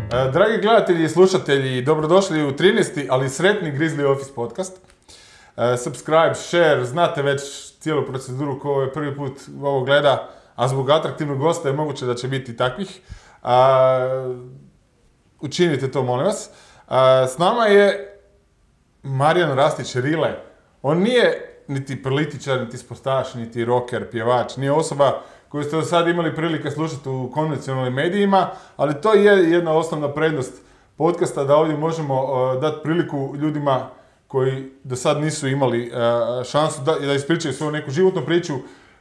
Dragi gledatelji i slušatelji, dobrodošli u 13. ali sretni Grizzly Office podcast. Subscribe, share, znate već cijelu proceduru ko je prvi put ovo gleda, a zbog atraktivnog gosta je moguće da će biti takvih. Učinite to, molim vas. S nama je Marijan Rastić Rile. On nije niti političar, niti sportaš, niti rocker, pjevač, nije osoba koju ste do sad imali prilike slušati u konvencionalnim medijima, ali to je jedna osnovna prednost podcasta, da ovdje možemo dati priliku ljudima koji do sad nisu imali šansu da ispričaju svoju neku životnu priču,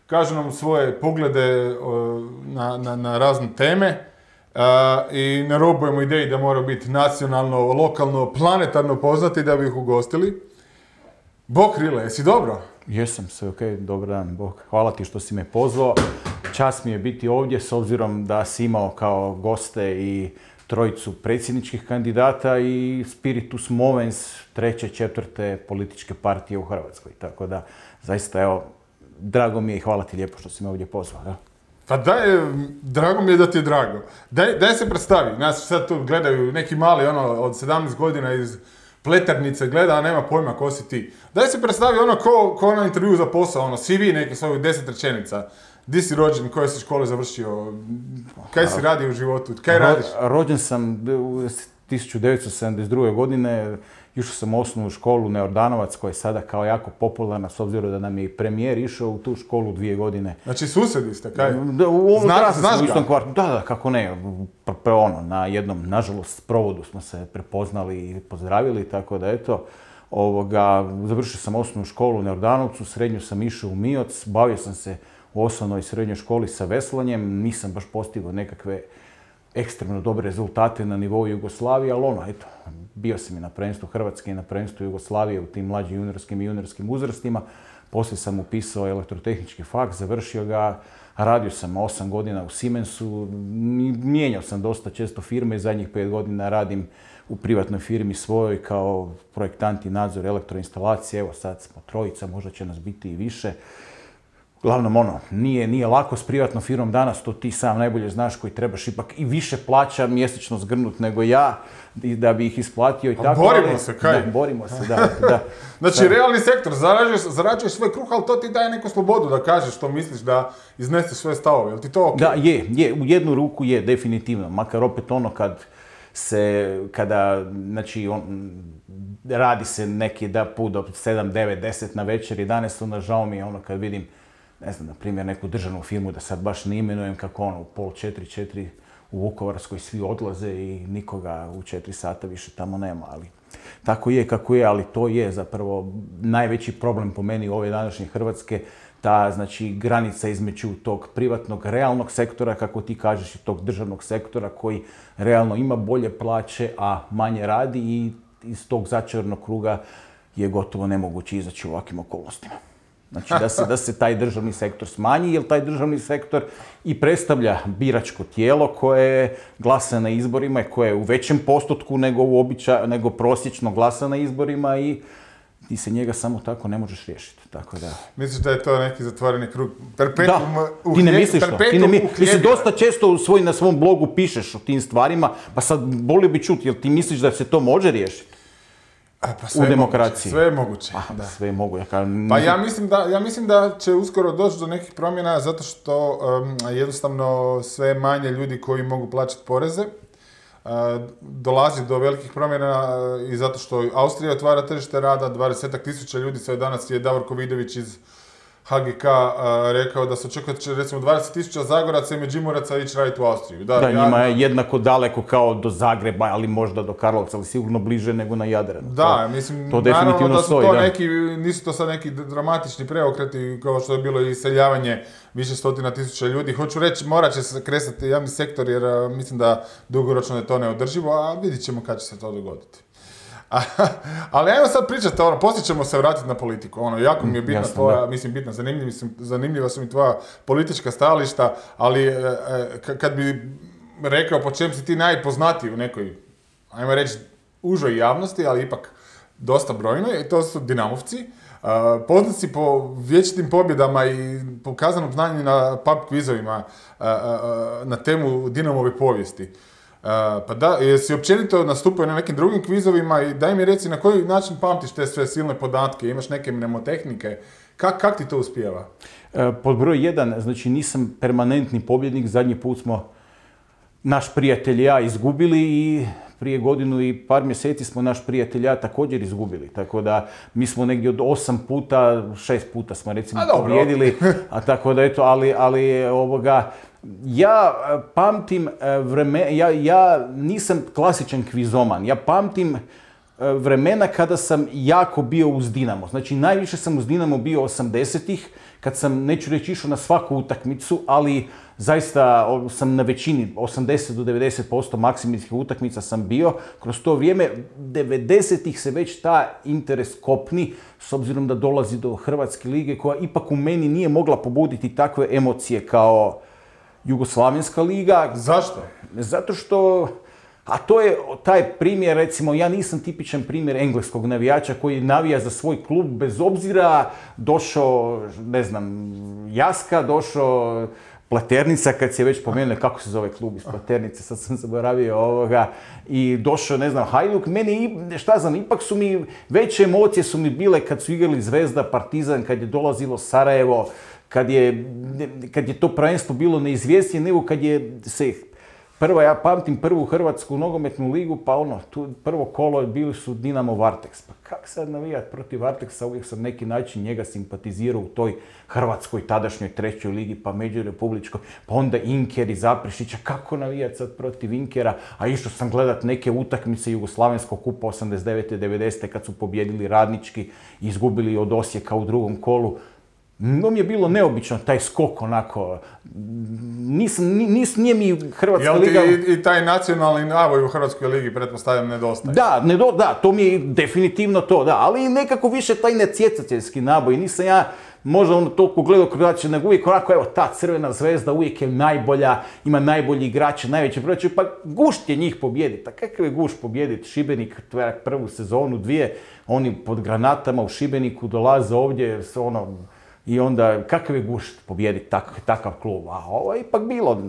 kažu nam svoje poglede na razne teme i ne robujemo ideji da mora biti nacionalno, lokalno, planetarno poznati da bi ih ugostili. Bok Rile, jesi dobro? Jesam, sve ok, dobar dan, Bog. Hvala ti što si me pozvao. Čast mi je biti ovdje s obzirom da si imao kao goste i trojicu predsjedničkih kandidata i spiritus movens treće, četvrte političke partije u Hrvatskoj. Tako da, zaista, evo, drago mi je i hvala ti lijepo što si me ovdje pozvao. Ja? Pa drago mi je da ti je drago. Daj se predstavi, nas sad tu gledaju neki mali od 17 godina iz Pleternice gleda, a nema pojma ko si ti. Daj se predstavi ko na intervju za posao, CV neki svojih 10 rečenica. Di si rođen, koje si škole završio, kaj si radio u životu, kaj radiš? Rođen sam 1972. godine, išao sam u osnovnu školu Neordanovac, koja je sada kao jako popularna, s obzirom da nam je i premijer išao u tu školu 2 godine. Znači susjedi ste, kaj? Znaš ga? Da, kako ne. Na jednom, nažalost, provodu smo se prepoznali i pozdravili, tako da eto. Završio sam osnovnu školu u Neordanovcu, srednju sam išao u Mioc, bavio sam se u osnovnoj i srednjoj školi sa veslanjem, nisam baš postigao nekakve ekstremno dobre rezultate na nivou Jugoslavije, ali bio sam i na prvenstvu Hrvatske i na prvenstvu Jugoslavije u tim mlađim juniorskim uzrastima. Poslije sam upisao elektrotehnički faks, završio ga, radio sam 8 godina u Siemensu, mijenjao sam dosta često firme, zadnjih 5 godina radim u privatnoj firmi svojoj kao projektant i nadzor elektroinstalacije, evo sad smo trojica, možda će nas biti i više. Uglavnom, nije lako s privatnom firmom danas, to ti sam najbolje znaš, koji trebaš ipak i više plaća mjesečno zgrnut nego ja, da bi ih isplatio i tako. Borimo se, kaj? Da, borimo se, da. Znači, realni sektor, zarađuješ svoj kruh, ali to ti daje neku slobodu da kažeš što misliš, da izneseš svoje stavove, jel ti to ok? Da, je, u jednu ruku je, definitivno, makar opet radi se neki put do 7, 9, 10 na večer, 11, onda žao mi je kad vidim, ne znam, na primjer, neku državnu firmu, da sad baš ne imenujem, kako u 3:30, 4 u Vukovarskoj svi odlaze i nikoga u 4 sata više tamo nema, ali tako je kako je, ali to je zapravo najveći problem po meni ove današnje Hrvatske, ta, granica između tog privatnog, realnog sektora, kako ti kažeš, i tog državnog sektora koji realno ima bolje plaće, a manje radi i iz tog začaranog kruga je gotovo nemoguće izaći u ovakvim okolnostima. Znači da se taj državni sektor smanji, jer taj državni sektor i predstavlja biračko tijelo koje glasa na izborima i koje je u većem postotku nego prosječno glasa na izborima i ti se njega samo tako ne možeš riješiti. Tako da. Misliš da je to neki zatvoreni krug? Ti ne misliš to. Ti se dosta često na svom blogu pišeš o tim stvarima, pa sad volio bi čuti, jel ti misliš da se to može riješiti? U demokraciji. Sve je moguće. Sve je moguće. Pa ja mislim da će uskoro doći do nekih promjena zato što jednostavno sve manje ljudi koji mogu plaćati poreze. Dolazi do velikih promjena i zato što Austrija otvara tržište rada, 20.000 ljudi, sve danas je Davorko Vidović iz HGK rekao da se očekuje da će recimo 20.000 Zagoraca i Međimuraca ići raditi u Austriju. Njima je jednako daleko kao do Zagreba, ali možda do Karlovca, ali sigurno bliže nego na Jadranu. Da, mislim, to naravno da su to nisu to sad neki dramatični preokreti kao što je bilo iseljavanje više stotina tisuća ljudi. Hoću reći, morat će se kresati javni sektor jer mislim da dugoročno je to neodrživo, a vidit ćemo kad će se to dogoditi. Ali ajmo sad pričati, poslije ćemo se vratiti na politiku. Jako mi je bitna zanimljiva su mi tvoja politička stajališta, ali kad bi rekao po čem si ti najpoznatiji u nekoj, ajmo reći, užoj javnosti, ali ipak dosta brojnoj, i to su Dinamovci. Poznati po vječitim pobjedama i pokazanom znanju na pub kvizovima na temu Dinamove povijesti. Pa da, jesi općenito nastupio na nekim drugim kvizovima i daj mi reci na koji način pamtiš te sve silne podatke, imaš neke mnemotehnike, kak ti to uspijeva? Pod broj 1, znači nisam permanentni pobjednik, zadnji put smo naš prijatelj i ja izgubili i prije godinu i par mjeseci smo naš prijatelj i ja također izgubili. Tako da mi smo negdje od 8 puta, 6 puta smo recimo pobjedili, a tako da eto, ali ja pamtim ja nisam klasičan kvizoman, ja pamtim vremena kada sam jako bio uz Dinamo. Znači najviše sam uz Dinamo bio 80-ih, kad sam, neću reći, išao na svaku utakmicu, ali zaista sam na većini, 80 do 90% maksimalnih utakmica sam bio. Kroz to vrijeme, 90-ih se već ta interes kopni, s obzirom da dolazi do Hrvatske lige, koja ipak u meni nije mogla pobuditi takve emocije kao Jugoslavenska liga. Zašto? Zato što, a to je taj primjer, recimo, ja nisam tipičan primjer engleskog navijača koji navija za svoj klub bez obzira, došao, ne znam, Jaska, došao Pleternica, kad se već pomenuo, kako se zove klub iz Pleternice, sad sam zaboravio i došao, ne znam, Hajduk, meni, šta znam, ipak su mi, veće emocije su mi bile kad su igrali Zvezda, Partizan, kad je dolazilo Sarajevo, kad je to prvenstvo bilo neizvjesnije, nego kad je se ja pamtim prvu Hrvatsku nogometnu ligu, pa prvo kolo bili su Dinamo Varteks. Pa kak sad navijat protiv Varteksa, uvijek sam neki način njega simpatizirao u toj Hrvatskoj tadašnjoj trećoj ligi, pa međurepubličkoj, pa onda Inker i Zaprešića, kako navijat sad protiv Inkera, a išao sam gledat neke utakmice Jugoslavenskog kupa 89. 90. kad su pobjedili Radnički i izgubili od Osijeka u drugom kolu. No mi je bilo neobično, taj skok onako, nije mi Hrvatska liga... Jel ti i taj nacionalni navoj u Hrvatskoj ligi, pretpostavljam, nedostaje? Da, to mi je definitivno to, da, ali nekako više taj necjecateljski naboj, nisam ja možda toliko gledao drugačije, nego uvijek onako, evo, ta Crvena Zvezda uvijek je najbolja, ima najbolji igrače, najveće proračune, pa gušt je njih pobijediti. A kakav je gušt pobijediti Šibenik, prvu sezonu, dvije, oni pod granatama u Šibeniku dolaze ovdje s i onda, kakav je gušt pobijediti takav klub? A ovo je ipak bilo,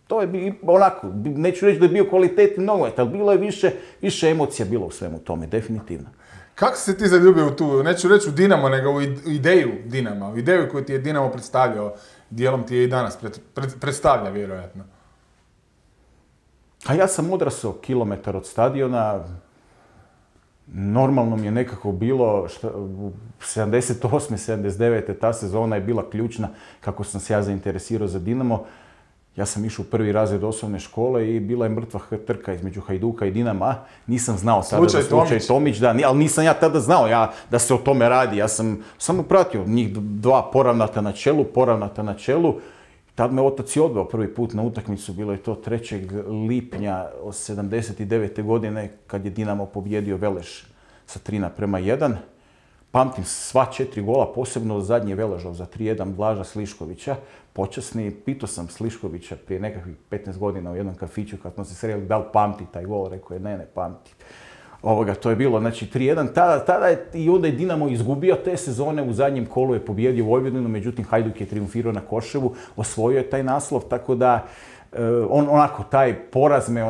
to je onako, neću reći da je bio kvalitetni nogomet, ali bilo je više emocija bilo u svemu tome, definitivno. Kako si ti zaljubio u tu, neću reći u Dinamo, nego u ideju Dinama, u ideju koju ti je Dinamo predstavljao, dijelom ti je i danas predstavlja, vjerojatno? A ja sam odrasao kilometar od stadiona. Normalno mi je nekako bilo, 78. 79. ta sezona je bila ključna kako sam se ja zainteresirao za Dinamo. Ja sam išao u prvi razred osnovne škole i bila je mrtva trka između Hajduka i Dinama. Nisam znao tada za slučaj Tomić, ali nisam ja tada znao da se o tome radi. Ja sam samo pratio njih dva poravnata na čelu. Tad me otac i odveo prvi put na utakmicu, bilo je to 3. lipnja 79. godine kad je Dinamo pobjedio Veleš sa 3:1. Pamtim sva 4 gola, posebno zadnji Veležov za 3:1 Blaža Sliškovića, počasni. Pitao sam Sliškovića prije nekakvih 15 godina u jednom kafiću kad smo se sreli da li pamti taj gol, rekao je ne pamti. To je bilo, znači 3:1, tada je i onda je Dinamo izgubio te sezone, u zadnjem kolu je pobjedio Vojvodinu, međutim Hajduk je triumfirao na Koševu, osvojio je taj naslov, tako da taj poraz me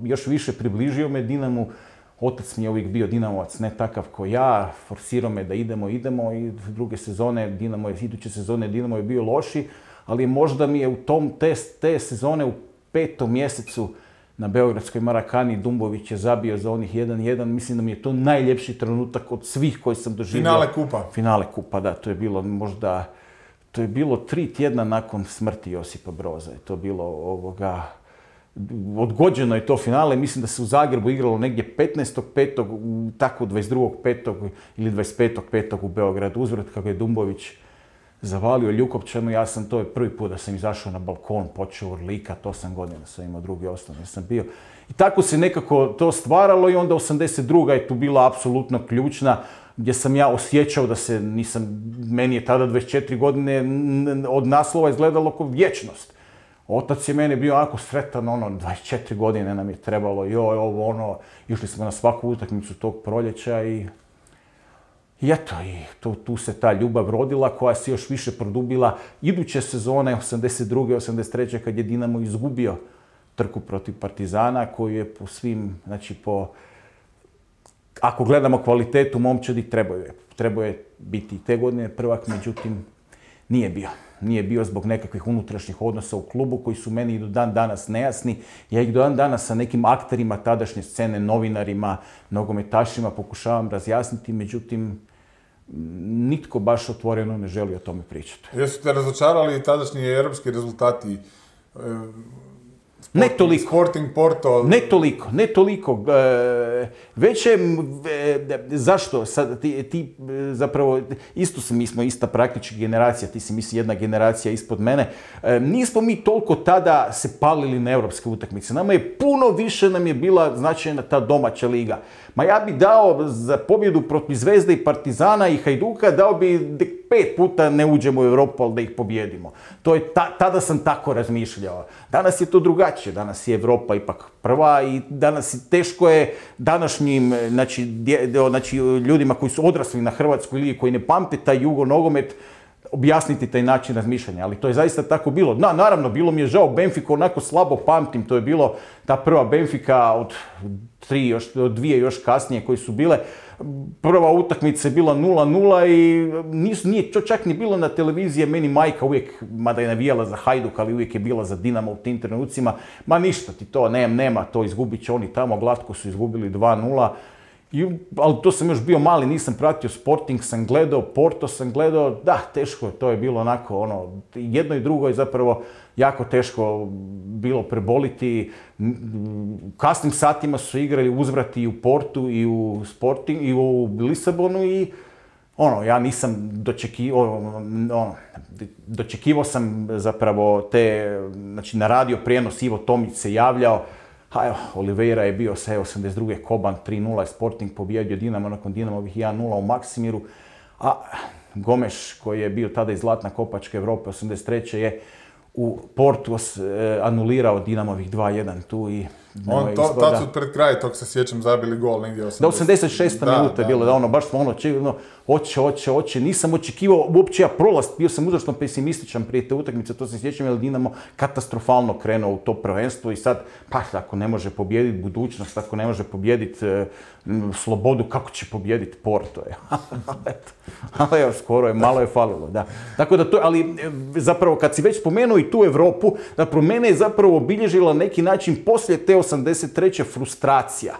još više približio me Dinamu. Otac mi je uvijek bio Dinamovac, ne takav ko ja, forsirao me da idemo i iduće sezone Dinamo je bio loši, ali možda mi je u te sezone u 5. mjesecu na beogradskoj Marakani Dumbović je zabio za onih 1:1. Mislim da mi je to najljepši trenutak od svih koji sam doživio. Finale kupa, da. To je bilo 3 tjedna nakon smrti Josipa Broza. To je bilo odgođeno je to finale. Mislim da se u Zagrebu igralo negdje 15.5. tako 22.5. ili 25.5. u Beogradu. Uzvrat kako je Dumbović zavalio Ljukopčanu, to je prvi put da sam izašao na balkon, počeo urlikat, 8 godina sam imao, drugi osnovni sam bio. I tako se nekako to stvaralo i onda 82. je tu bila apsolutno ključna, gdje sam ja osjećao da meni je tada 24 godine od naslova izgledalo kao vječnost. Otac je meni bio onako sretan, 24 godine nam je trebalo, išli smo na svaku utakmicu tog proljeća i eto, tu se ta ljubav rodila koja se još više produbila iduće sezone, 82. 83. kad je Dinamo izgubio trku protiv Partizana koji je po svim, znači ako gledamo kvalitetu momčadi, trebao je biti i te godine prvak, međutim nije bio. Nije bio zbog nekakvih unutrašnjih odnosa u klubu koji su meni i do dan danas nejasni. Ja ih do dan danas sa nekim akterima tadašnje scene, novinarima, nogometašima pokušavam razjasniti, međutim nitko baš otvoreno ne želi o tome pričati. Jesu te razočarali tadašnji europski rezultati? Ne toliko. Sporting Porto? Ne toliko. Već je, zašto? Sad, ti zapravo, mi smo ista praktički generacija, ti si misli jedna generacija ispod mene. Nismo mi toliko tada se palili na europske utakmice. Nama je puno više nam je bila značajna ta domaća liga. Ma ja bi dao za pobjedu protiv Zvezde i Partizana i Hajduka, dao bi 5 puta ne uđemo u Europu, ali da ih pobjedimo. To je tada sam tako razmišljao. Danas je to drugačije. Danas je Europa ipak prva i danas teško je današnjim znači, ljudima koji su odrasli na Hrvatskoj ligi, koji ne pamte taj jugo nogomet, objasniti taj način razmišljanja, ali to je zaista tako bilo. Naravno, bilo mi je žao, Benfica onako slabo pamtim, to je bilo ta prva Benfica od dvije još kasnije koji su bile. Prva utakmica je bila 0-0 i nije to čak ni bilo na televiziji, meni majka uvijek, mada je navijala za Hajduk, ali uvijek je bila za Dinamo u tim trenucima. Ma ništa ti to, nema, to izgubit će oni tamo, glatko su izgubili 2-0. Ali to sam još bio mali, nisam pratio, Sporting sam gledao, Porto sam gledao, da, teško je, to je bilo onako, jedno i drugo je zapravo jako teško bilo preboliti. U kasnim satima su igrali uzvrati i u Portu i u Sporting i u Lisabonu i ja nisam dočekivao sam zapravo znači na radio prijenos Ivo Tomić se javljao. Oliveira je bio sa 82. Koban 3-0, Sporting pobjedio Dinamo nakon Dinamovih 1-0 u Maksimiru, a Gomes koji je bio tada iz Zlatna kopačka Europe 83. je u Portu anulirao Dinamovih 2-1 tu i... Tad su pred kraj, tog se sjećam, zabili gol negdje 80. Da, 86. minuta je bilo, baš smo hoće, nisam očekivao uopće ja prolaz, bio sam uzračno pesimističan prije te utakmice, to se sjećam, jer Dinamo katastrofalno krenuo u to prvenstvo i sad, ako ne može pobijediti budućnost, ako ne može pobijediti slobodu, kako će pobijediti Porto? Ali evo, skoro je, malo je falilo, da. Tako da to, ali zapravo kad si već spomenuo i tu Europu, zapravo mene je zapravo obilježila neki način poslije te 83. frustracija.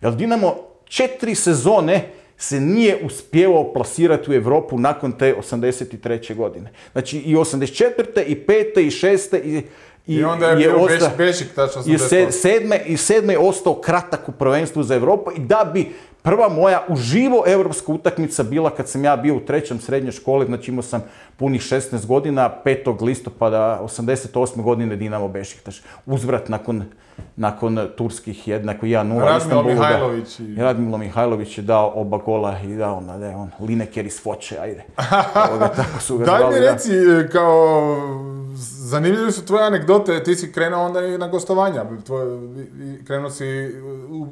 Jer Dinamo 4 sezone se nije uspjevao plasirati u Europu nakon te 83. godine. Znači i 84. i 5. i 6. I onda je bio Bešik, tačno 88. I 7. je ostao kratak u prvenstvu za Europu i da bi prva moja uživo europska utakmica bila kad sam ja bio u 3. srednje škole, znači imao sam punih 16 godina, 5. listopada 88. godine Dinamo Bešiktaš. Uzvrat nakon turskih jednako 1-0. Radmilo Mihajlović. Radmilo Mihajlović je dao oba gola i dao Lineker iz Foče, ajde. Tako su ga Daj zvali, mi reci, kao zanimljive su tvoje anegdote, ti si krenuo onda i na gostovanja, krenuo si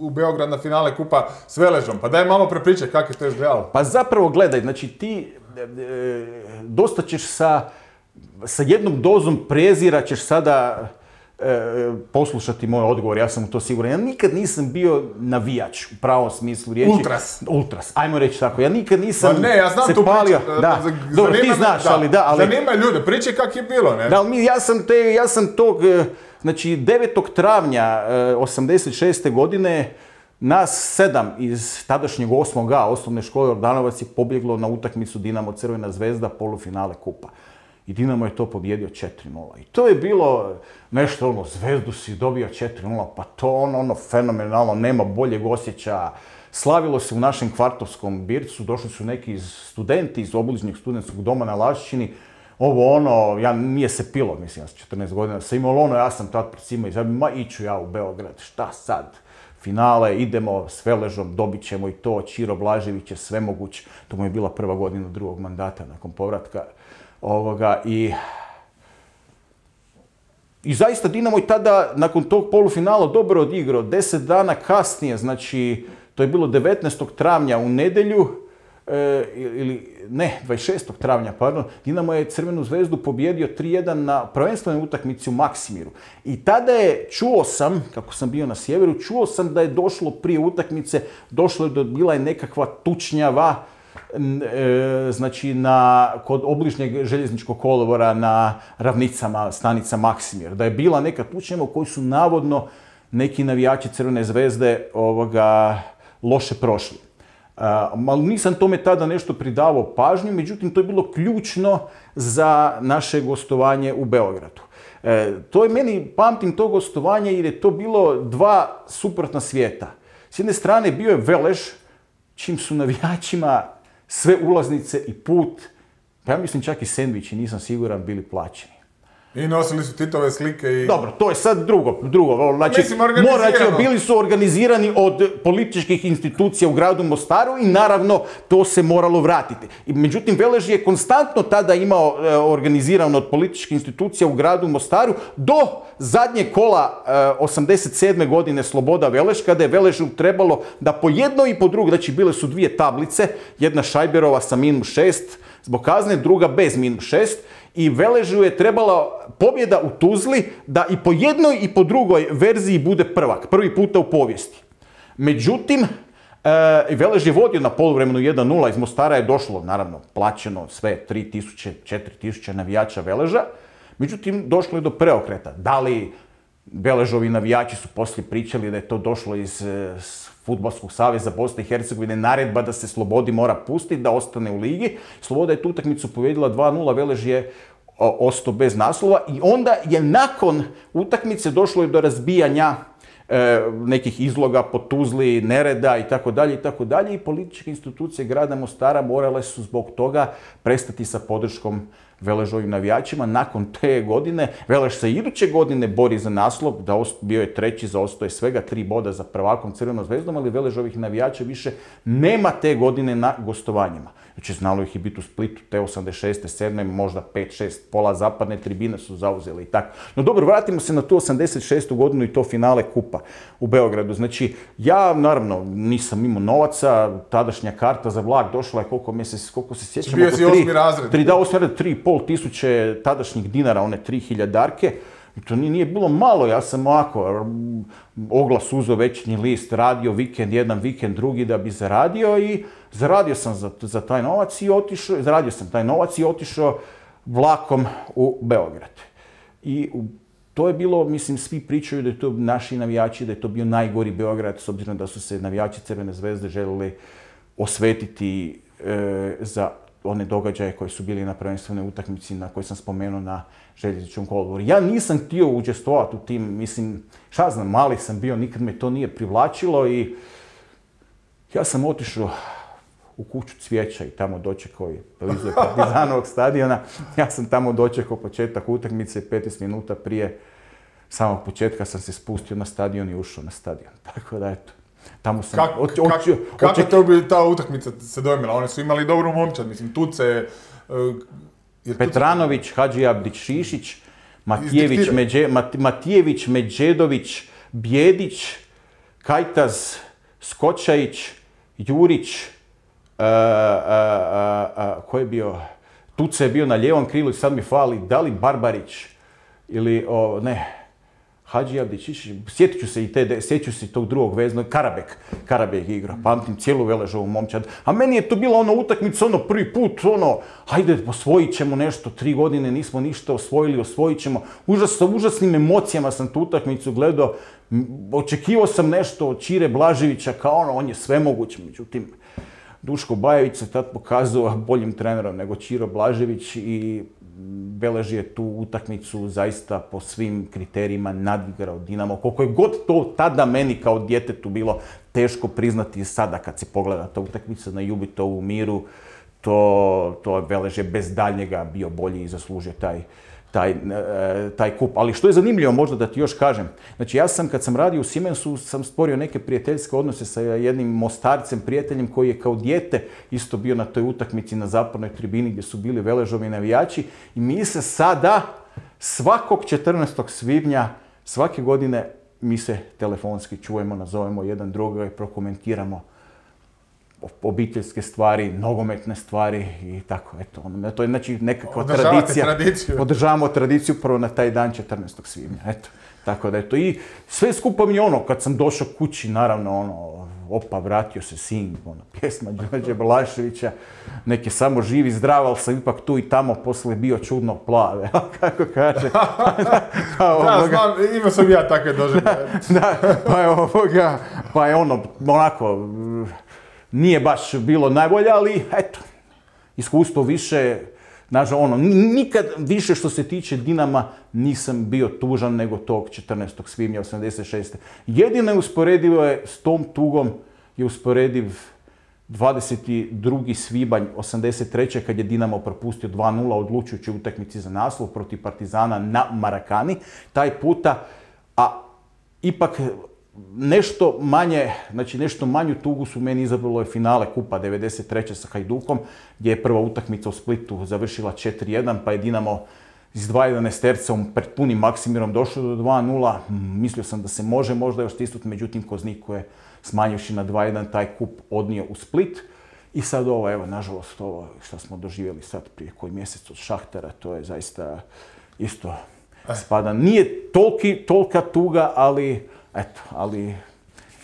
u Beograd na finale kupa s Veležom, pa daj malo prepričaj kako je to izgledalo. Pa zapravo gledaj, znači ti dosta ćeš sa jednom dozom prezira ćeš sada poslušati moj odgovor, ja sam u to siguran. Ja nikad nisam bio navijač u pravom smislu riječi. Ultras, ajmo reći tako. Ja nikad nisam pa ne, ja znam se tu palio. Da, dobro, ti znaš, ali da. Zanima ljude, priče kak je bilo, ne? Da, ja sam tog, znači 9. travnja 86. godine nas 7 iz tadašnjeg 8A osnovne škole Ordanovac je pobjeglo na utakmicu Dinamo Crvena zvezda polufinale kupa. I Dinamo je to pobjedio 4-0. I to je bilo nešto, Zvezdu si dobio 4-0, pa to fenomenalno, nema boljeg osjećaja. Slavilo se u našem kvartovskom Bircu, došli su neki studenti iz obližnjeg studentskog doma na Lašćini. Nije se pilo, mislim, ja sam 14 godina, sam imao ja sam tad pred svima iću ja u Beograd, šta sad? Finale, idemo s Veležom, dobit ćemo i to, Ćiro Blažević je svemoguć. To mu je bila prva godina drugog mandata nakon povratka. I zaista Dinamo je tada, nakon tog polufinala, dobro odigrao. 10 dana kasnije, znači, to je bilo 19. travnja u nedjelju, 26. travnja, pardon, Dinamo je Crvenu zvezdu pobjedio 3-1 na prvenstvenoj utakmici u Maksimiru. I tada je, čuo sam, kako sam bio na sjeveru, čuo sam da je došlo prije utakmice, bila je nekakva tučnjava, znači kod obližnjeg željezničkog kolodvora na Ravnicama, stanica Maksimir. Da je bila neka tučnjava u kojoj su navodno neki navijači Crvene zvezde loše prošli. Ali nisam tome tada nešto pridavao pažnju, međutim to je bilo ključno za naše gostovanje u Beogradu. To je meni, pamtim to gostovanje jer je to bilo dva suprotna svijeta. S jedne strane bio je Velež, čim su navijačima sve ulaznice i put, pa ja mislim čak i sendviči, nisam siguran, bili plaćeni. I nosili su Titove slike i... Dobro, to je sad drugo. Znači, bili su organizirani od političkih institucija u gradu Mostaru i naravno to se moralo vratiti. Međutim, Velež je konstantno tada imao organizirano od političkih institucija u gradu Mostaru do zadnjeg kola 87. godine Sloboda Veleš, kada je Veležu trebalo da po jednoj i po drugoj, znači bile su dvije tablice, jedna Šajberova sa -6 zbog kazne, druga bez -6, i Veležu je trebala pobjeda u Tuzli da i po jednoj i po drugoj verziji bude prvak, prvi puta u povijesti. Međutim, Velež je vodio na poluvremenu 1-0, iz Mostara je došlo, naravno, plaćeno sve 3000, 4000 navijača Veleža, međutim, došlo je do preokreta. Da li Veležovi navijači su poslije pričali da je to došlo iz Fudbalskog saveza Bosne i Hercegovine, naredba da se Slobodi mora pustiti, da ostane u ligi. Sloboda je tu utakmicu pobjedila 2-0, Velež je ostao bez naslova i onda je nakon utakmice došlo je do razbijanja nekih izloga po Tuzli, nereda itd. I političke institucije grada Mostara morale su zbog toga prestati sa podrškom Veležovim navijačima. Nakon te godine, Velež se iduće godine bori za naslov, bio je treći, zaostao je svega 3 boda za prvakom Crvenom zvezdom, ali Veležovih navijača više nema te godine na gostovanjima. Znači, znalo ih je biti u Splitu, te 86. 7. možda 5-6, pola zapadne tribine su zauzeli i tako. No dobro, vratimo se na tu 86. godinu i to finale kupa u Beogradu. Znači, ja naravno nisam imao novaca, tadašnja karta za vlak došla je koliko se sjećam. Bio si 8. razred. 3,5 tisuće tadašnjih dinara, one 3000-darke. To nije bilo malo, ja sam ovako oglas uzeo Večernji list, radio vikend, jedan vikend, drugi da bi zaradio i zaradio sam za taj novac i otišao vlakom u Beograd. I to je bilo, mislim, svi pričaju da je to naši navijači, da je to bio najgori Beograd, s obzirom da su se navijači Crvene zvezde želeli osvetiti za one događaje koji su bili na prvenstvenoj utakmici na kojoj sam spomenuo na željezničkom kolodvoru. Ja nisam htio učestvovati u tim, mislim, šta znam, mali sam bio, nikad me to nije privlačilo i ja sam otišao u kuću Cvijeća i tamo dočekao blizu Partizanovog stadiona. Ja sam tamo dočekao početak utakmice, 15 minuta prije samog početka sam se spustio na stadion i ušao na stadion. Tako da, eto. Kako to bi ta utakmica se dojmila? Oni su imali dobru momčad, mislim, Tuce... Petranović, Hadžiabdić, Šišić, Matijević, Međedović, Bjedić, Kajtaz, Skočajić, Jurić, ko je bio? Tuce je bio na lijevom krilu i sad mi fali, da li Barbarić ili, Hadžiabdić, sjetit ću se tog drugog veznog, Karabek igra, pamtim cijelu Veležovu momčad. A meni je to bila utakmica, prvi put, hajde, osvojit ćemo nešto, 3 godine nismo ništa osvojili, osvojit ćemo. Sa užasnim emocijama sam tu utakmicu gledao, očekivao sam nešto od Čire Blaževića, kao on je svemoguć, međutim, Duško Bajević se tad pokazao boljim trenerom nego Čiro Blažević i Velež je tu utakmicu zaista po svim kriterijima nadigrao Dinamo. Koliko je god to tada meni kao djetetu bilo teško priznati sada kad se pogleda ta utakmica na Jubitovu Miru, to Velež je bez daljnjega bio bolji i zaslužio taj kup. Ali što je zanimljivo, možda da ti još kažem, znači ja sam kad sam radio u Siemensu sam stvorio neke prijateljske odnose sa jednim Mostarcem, prijateljem koji je kao dijete isto bio na toj utakmici na zapadnoj tribini gdje su bili Veležovi navijači i mi se sada svakog 14. svibnja svake godine mi se telefonski čujemo, nazovemo jedan drugoga i prokomentiramo obiteljske stvari, nogometne stvari i tako, eto, to je znači nekakva tradicija. Održavamo tradiciju prvo na taj dan 14. svibnja, eto. Tako da eto, i sve skupa mi kad sam došao kući, naravno, opa, vratio se sin, pjesma Đorđe Balaševića, neke samo živi, zdrav, ali sam ipak tu i tamo poslije bio čudno plav, kako kaže. Da, znam, imao sam ja takve doživljaje. Pa je onako, nije baš bilo najbolje, ali eto, iskustvo više, nažalost, nikad više što se tiče Dinama nisam bio tužan nego tog 14. svibnja 86. Jedino je usporedivo s tom tugom je usporediv 22. svibanj 83. kad je Dinamo propustio 2:0 odlučujući utakmici za naslov protiv Partizana na Marakani. Taj puta, a ipak nešto manje, znači nešto manju tugu su meni izabralo je finale Kupa 93. sa Hajdukom, gdje je prva utakmica u Splitu završila 4:1, pa je Dinamo s 2:11 tercom pred punim Maksimirom došlo do 2:0. Mislio sam da se može možda još stisnuti, međutim Kozniku je smanjivši na 2:1 taj kup odnio u Split. I sad evo, nažalost, ovo što smo doživjeli sad prije koji mjesec od Šahtara, to je zaista isto spada. Nije tolika tuga, ali eto, ali...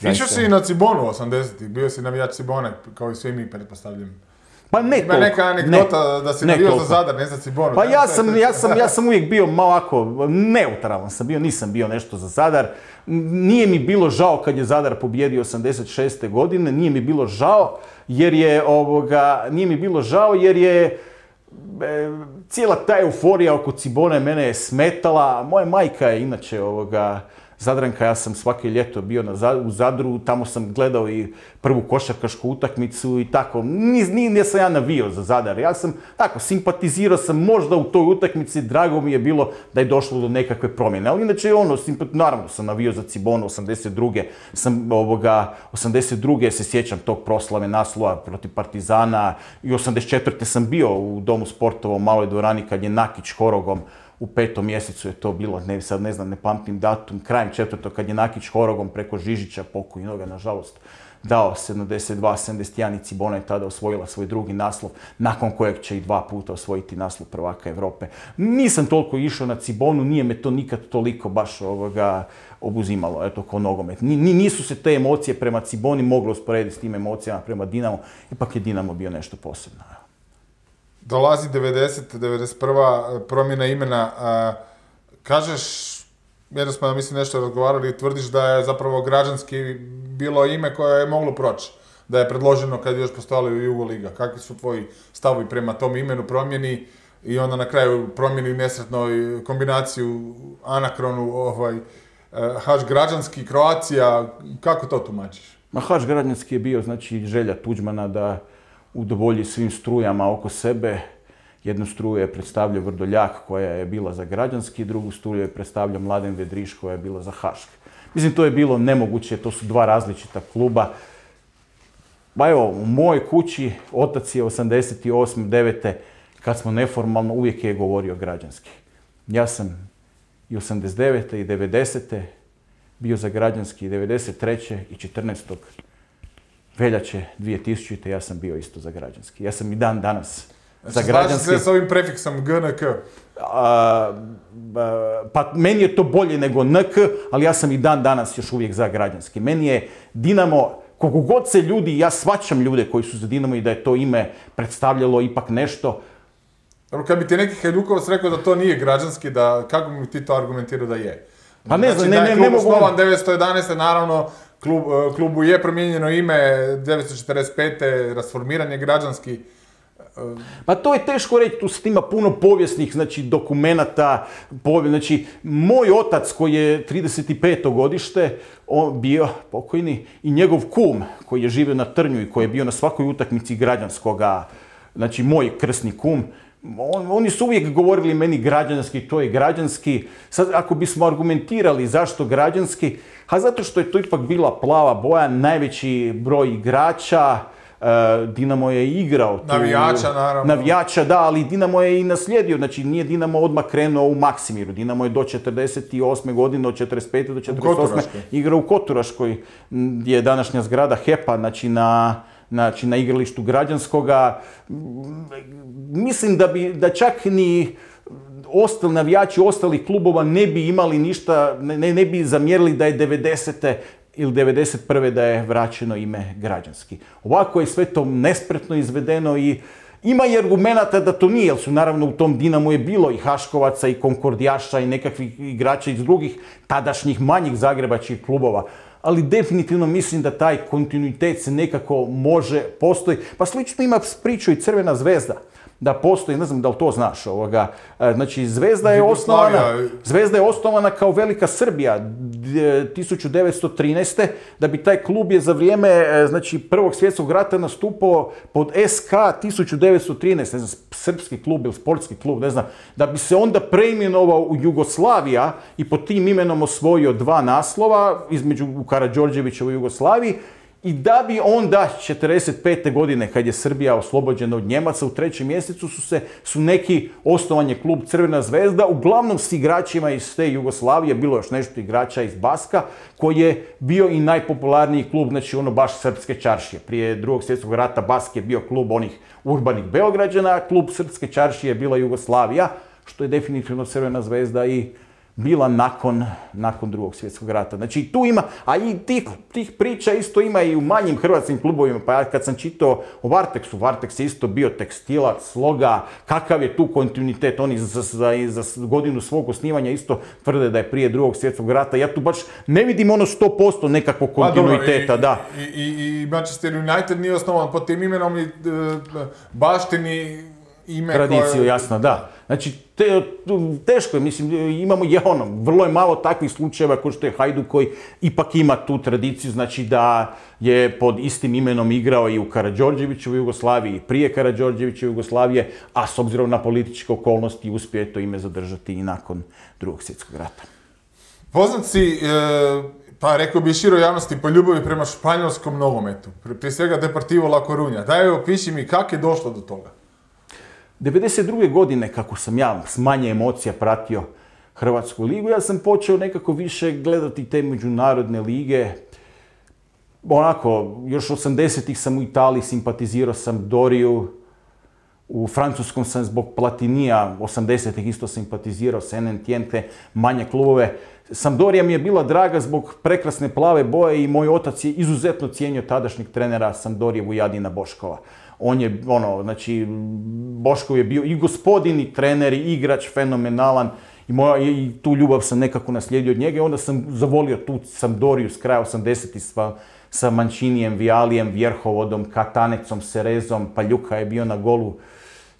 Išao si i na Cibonu 80-ih, bio si navijač Cibone, kao i svi mi, pretpostavljam. Pa ne toliko. Ima neka anegdota da si navijao za Zadar, ne za Cibonu. Pa ja sam uvijek bio malo ovako, neutralan sam bio, nisam bio nešto za Zadar. Nije mi bilo žao kad je Zadar pobijedio 86. godine, nije mi bilo žao jer je cijela ta euforija oko Cibone mene je smetala. Moja majka je inače Zadranka, ja sam svake ljeto bio u Zadru, tamo sam gledao i prvu košarkašku utakmicu i tako. Nisam ja navio za Zadar, ja sam tako, simpatizirao sam možda u toj utakmici, drago mi je bilo da je došlo do nekakve promjene. Ali inače naravno sam navio za Cibonu 82. se sjećam tog proslave naslova protiv Partizana i 84. sam bio u Domu sportova u Maloj dvorani kad je Nakić Horogom u 5. mjesecu je to bilo, ne pamtim datum, krajem 4. kad je Nakić Horogom preko Žižića, pokojnoga nažalost, dao 72-71 i Cibona je tada osvojila svoj drugi naslov, nakon kojeg će i 2 puta osvojiti naslov prvaka Europe. Nisam toliko išao na Cibonu, nije me to nikad toliko baš obuzimalo, eto, ko nogomet. Nisu se te emocije prema Ciboni moglo usporediti s tim emocijama prema Dinamo, ipak je Dinamo bio nešto posebno. Dolazi 90. 91. promjena imena. Kažeš, jedno smo mislim nešto razgovarali i tvrdiš da je zapravo građanski bilo ime koje je moglo proći. Da je predloženo kad je još postojala Jugoliga. Kakvi su tvoji stavovi prema tom imenu, promjeni i onda na kraju promjeni nesretnoj kombinaciju anakronu, Haš građanski, Croatia, kako to tumačiš? Haš građanski je bio znači želja Tuđmana da udovolji svim strujama oko sebe. Jednu struju je predstavljao Vrdoljak koja je bila za građanski, drugu struju je predstavljao Mladen Vedriš koja je bila za Hašk. Mislim, to je bilo nemoguće, to su 2 različita kluba. Pa evo, u mojoj kući otac je 88. 9. kad smo neformalno uvijek je govorio građanski. Ja sam i 89. i 90. bio za građanski, 93. i 14. veljače 2000. ja sam bio isto za građanski. Ja sam i dan danas za građanski. Znači, s ovim prefiksom GNK? Pa meni je to bolje nego NK, ali ja sam i dan danas još uvijek za građanski. Meni je Dinamo, koliko god se ljudi, ja shvaćam ljude koji su za Dinamo i da je to ime predstavljalo ipak nešto. Kad bi ti neki Hajdukovac rekao da to nije građanski, kako bi ti to argumentirao da je? Pa ne znam, ne mogu... Osnovan 911. naravno, klubu je promijenjeno ime, 1945. rasformiran je građanski. Pa to je teško reći, tu ima puno povijesnih, znači, dokumenata, znači, moj otac koji je 35. godište, on bio pokojni, i njegov kum koji je živio na Trnju i koji je bio na svakoj utakmici građanskoga, znači, moj krsni kum, oni su uvijek govorili meni građanski, to je građanski. Sad, ako bismo argumentirali zašto građanski, zato što je to ipak bila plava boja, najveći broj igrača, Dinamo je igrao tu... Navijača, naravno. Navijača, da, ali Dinamo je i naslijedio, znači nije Dinamo odmah krenuo u Maksimiru. Dinamo je do 48. godine, od 45. do 48. igrao u Koturaškoj, gdje je današnja zgrada HEP-a, znači znači na igralištu Građanskoga. Mislim da čak ni ostali navijači ostalih klubova ne bi imali ništa, ne bi zamjerili da je 90. ili 91. da je vraćeno ime Građanski. Ovako je sve to nespretno izvedeno i ima i argumenata da to nije, jer su naravno u tom Dinamu je bilo i Haškovaca i Konkordijaša i nekakvih igrača iz drugih tadašnjih manjih zagrebačkih klubova. Ali definitivno mislim da taj kontinuitet se nekako može postoji. Pa slično ima priču i Crvena zvezda. Da postoji, ne znam da li to znaš, znači Zvezda je osnovana kao Velika Srbija 1913. da bi taj klub je za vrijeme znači, Prvog svjetskog rata nastupao pod SK 1913, ne znam, srpski klub ili sportski klub, ne znam, da bi se onda preimenovao u Jugoslavija i pod tim imenom osvojio 2 naslova između u Karađorđevićevoj Jugoslaviji. I da bi onda 1945. godine, kad je Srbija oslobođena od Njemaca, u 3. mjesecu su neki osnovan je klub Crvena zvezda, uglavnom s igračima iz te Jugoslavije, bilo još nešto igrača iz Baska, koji je bio i najpopularniji klub, znači ono baš Srpske čaršije. Prije Drugog svjetskog rata Bask je bio klub onih urbanih Beograđana, klub Srpske čaršije je bila Jugoslavija, što je definitivno Crvena zvezda i bila nakon Drugog svjetskog rata. Znači tu ima, a i tih priča isto ima i u manjim hrvatskim klubovima, pa ja kad sam čitao o Varteksu, Varteks je isto bio tekstilac, sloga, kakav je tu kontinuitet, oni za godinu svog osnivanja isto tvrde da je prije Drugog svjetskog rata, ja tu baš ne vidim ono 100% nekakvog kontinuiteta, da. I Manchester United nije osnovan pod tim imenom i baštini ime tradiciju, koje... jasno, da. Znači, teško je, mislim, imamo vrlo je malo takvih slučajeva kao što je Hajduk koji ipak ima tu tradiciju, znači da je pod istim imenom igrao i u Karađorđevićevoj Jugoslaviji, i prije Karađorđevićeve Jugoslavije, a s obzirom na političke okolnosti uspio je to ime zadržati i nakon Drugog svjetskog rata. Poznat si, pa rekao bi široj javnosti, po ljubavi prema španjolskom nogometu, prije svega Deportivo La Coruña. Daj, opiši mi kako je došlo do toga. 1992. godine, kako sam ja s manje emocija pratio Hrvatsku ligu, ja sam počeo nekako više gledati te međunarodne lige. Onako, još 80-ih sam u Italiji simpatizirao Sampdoriju, u Francuskom sam zbog Platinija 80-ih isto simpatizirao Saint-Étienne, manje klubove. Sampdorija mi je bila draga zbog prekrasne plave boje i moj otac je izuzetno cijenio tadašnjeg trenera Sampdorije Vujadina Boškova. On je, znači, Boškov je bio i gospodin, i trener, i igrač, fenomenalan. I tu ljubav sam nekako naslijedio od njega i onda sam zavolio tu Sampdoriju s kraja 80-ih sa Mancinijem, Vialijem, Vjerhovodom, Katanecom, Serezom, Paljuka je bio na golu,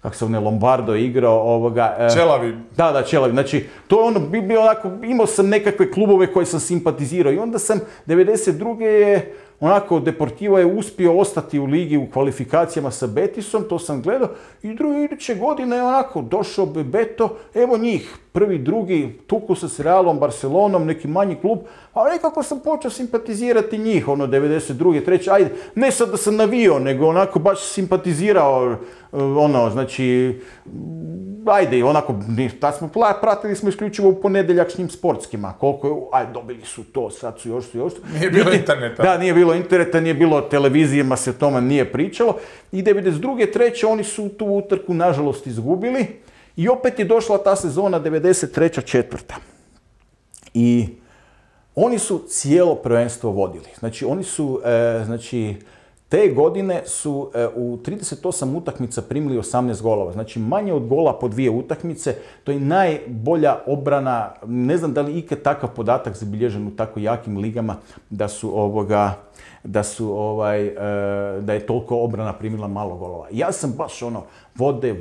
kako se Lombardo je igrao. Čelavi. Da, Čelavi. Znači, to je ono, bio onako, imao sam nekakve klubove koje sam simpatizirao i onda sam 92. je onako, Deportivo je uspio ostati u ligi u kvalifikacijama sa Betisom, to sam gledao, i iduće godine je onako došao Bebeto, evo njih, prvi, drugi, tuku se s Realom, Barcelonom, neki manji klub, a nekako sam počeo simpatizirati njih, 92. 3. Ajde, ne sad da sam navio, nego onako baš simpatizirao, znači, ajde, onako, pratili smo isključivo u ponedjeljačnim sportskima, koliko je, ajde, dobili su to, sad su još. Nije bilo interneta. Da, nije bilo interneta, nije bilo televizijama, se o tome nije pričalo. I 92. 3. oni su tu utrku, nažalost, izgubili. I opet je došla ta sezona 93. 4. I oni su cijelo prvenstvo vodili. Znači, oni su, te godine su u 38 utakmica primili 18 golova. Znači, manje od gola po 2 utakmice. To je najbolja obrana. Ne znam da li ikad takav podatak zabilježen u tako jakim ligama da je toliko obrana primila malo golova. Ja sam baš vode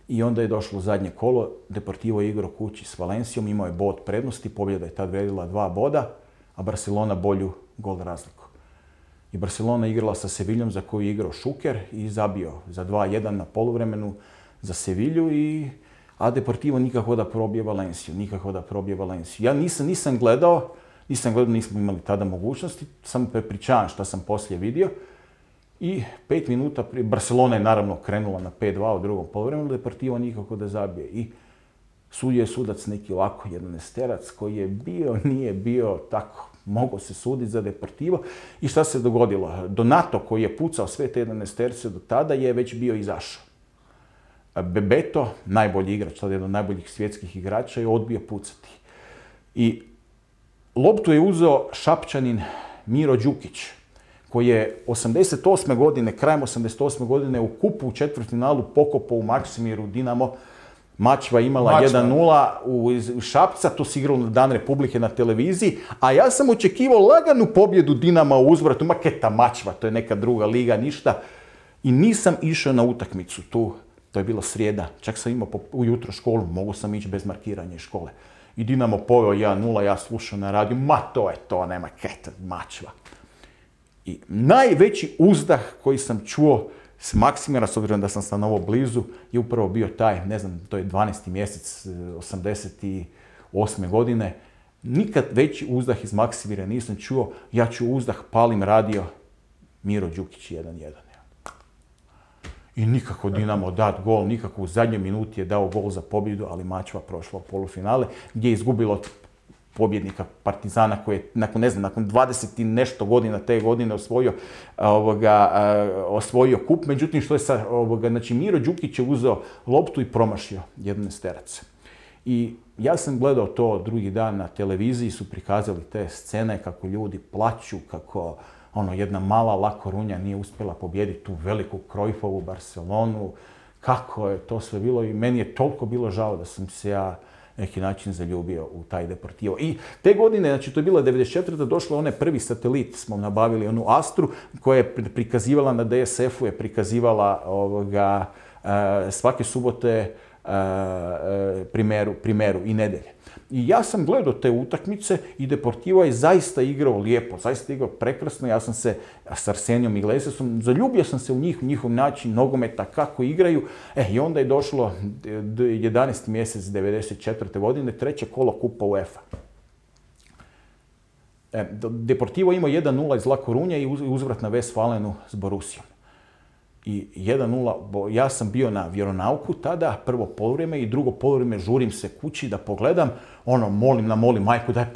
i onda je došlo zadnje kolo. Deportivo je igrao kući s Valencijom, imao je bod prednosti, pobjeda je tad vrijedila 2 boda, a Barcelona bolju gol razliku. I Barcelona igrala sa Seviljom za koju je igrao Šuker i zabio za 2-1 na poluvremenu za Sevilju, a Deportivo nikako da probije Valenciju. Ja nisam gledao, nismo imali tada mogućnosti, samo prepričavam šta sam poslije vidio. I 5 minuta prije, Barcelona je naravno krenula na 5-2 u drugom poluvremenu, Deportivo nikako da zabije. I Sudio je sudac neki ovako jedanaesterac koji je bio, nije bio tako, mogao se suditi za Deportivo. I šta se dogodilo? Donato koji je pucao sve te jedanaesterce do tada je već bio izašao. Bebeto, najbolji igrač, tada jedan od najboljih svjetskih igrača, je odbio pucati. I loptu je uzeo Šapčanin Miro Đukić, koji je 88. godine, krajem 88. godine u kupu u četvrtfinalu pokopao u Maksimiru Dinamo. Mačva imala 1:0 u Šapca, to se igralo na Dan Republike na televiziji, a ja sam očekivao laganu pobjedu Dinama u uzvratu, maketa Mačva, to je neka druga liga, ništa. I nisam išao na utakmicu tu, to je bila srijeda, čak sam imao ujutro školu, mogu sam ići bez markiranja iz škole. I Dinamo poveo 1:0, ja slušao na radiju, ma to je to, nema keta, Mačva. I najveći uzdah koji sam čuo s Maksimira, s obzirom da sam stanovao blizu, je upravo bio taj, ne znam, to je 12. mjesec 88. godine. Nikad veći uzdah iz Maksimira nisam čuo, ja ću uzdah, palim radio, Miro Đukić 1:1. I nikako Dinamo dat gol, nikako u zadnjoj minuti je dao gol za pobjedu, ali Mačva prošla u polufinale, gdje je izgubilo od pobjednika Partizana koji je nakon 20 i nešto godina te godine osvojio kup. Međutim, što je znači Miro Đukić je uzeo loptu i promašio jedanaesterac. I ja sam gledao to drugi dan na televiziji, su prikazali te scene kako ljudi plaću, kako jedna mala La Coruña nije uspjela pobijediti tu veliku Cruyffovu Barcelonu, kako je to sve bilo i meni je toliko bilo žao da sam se ja neki način zaljubio u taj Deportivo. I te godine, znači to je bila 94. došlo onaj prvi satelit, smo nabavili onu Astru koja je prikazivala na DSF-u, je prikazivala svake subote primeru i nedelje. I ja sam gledao te utakmice i Deportivo je zaista igrao lijepo, zaista igrao prekrasno. Ja sam se s Arsenijom Iglesiasom, zaljubio sam se u njihov način nogometa, kako igraju. I onda je došlo 11. mjesec 94. godine, treće kolo kupa UEFA. Deportivo imao 1:0 iz La Coruña i uzvrat na Westfalenu s Borussijom. I 1:0, ja sam bio na vjeronauku tada, prvo poluvrijeme i drugo poluvrijeme žurim se kući da pogledam, molim majku daj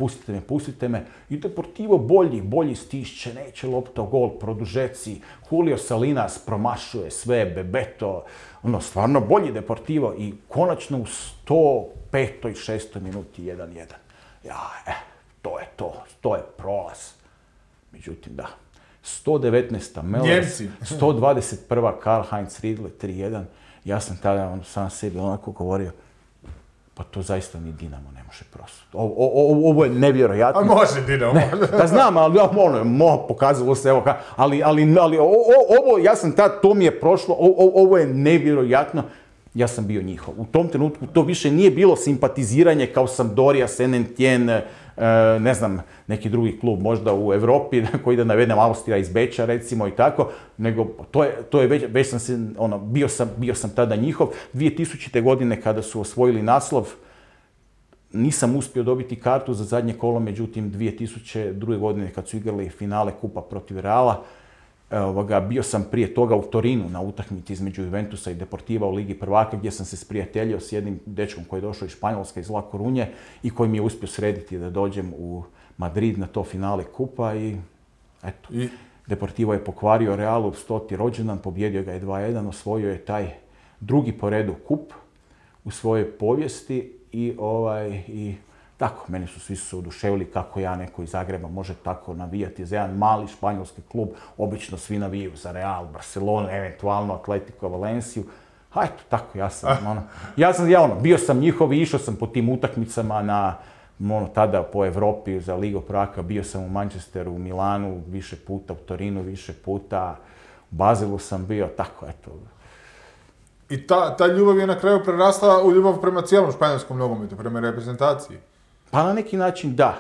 pustite me. I Deportivo bolji stišće, neće lopta, gol, produžeci, Julio Salinas promašuje sve, Bebeto, stvarno bolji Deportivo i konačno u 105. i 6. minuti 1:1. To je prolaz. Međutim, da. 119. Mellers, 121. Karl-Heinz Riedle, 3:1. Ja sam tada sam sebi onako govorio, pa to zaista ni Dinamo ne može prosuti. Ovo je nevjerojatno. A može Dinamo. Pa znam, ali pokazalo se, ali ovo, ja sam tada, to mi je prošlo, ovo je nevjerojatno. Ja sam bio njihov. U tom trenutku to više nije bilo simpatiziranje kao Sampdoria, Saint-Étienne, ne znam, neki drugi klub možda u Europi, koji da navedem Austrija iz Beča recimo i tako, nego to je već sam se, bio sam tada njihov. 2000. godine kada su osvojili naslov, nisam uspio dobiti kartu za zadnje kolo, međutim 2002. godine kad su igrali finale kupa protiv Reala, bio sam prije toga u Torinu na utakmici između Juventusa i Deportiva u Ligi prvaka gdje sam se sprijateljio s jednim dečkom koji je došao iz Španjolske, iz La Coruñe i koji mi je uspio srediti da dođem u Madrid na to finale kupa i eto. Deportivo je pokvario Realu 100. rođendan, pobjedio ga je 2:1, osvojio je taj drugi po redu kup u svojoj povijesti i tako, meni su svi se oduševili kako ja neko iz Zagreba može tako navijati za jedan mali španjolski klub. Obično svi navijaju za Real, Barcelonu, eventualno Atletico, Valenciju. A eto, tako, bio sam njihov i išao sam po tim utakmicama tada po Europi za Ligu prvaka. Bio sam u Manchesteru, u Milanu više puta, u Torinu više puta, u Bazilu sam bio, tako, eto. I ta ljubav je na kraju prerasla u ljubav prema cijelom španjolskom nogometu, prema reprezentaciji. Pa na neki način da.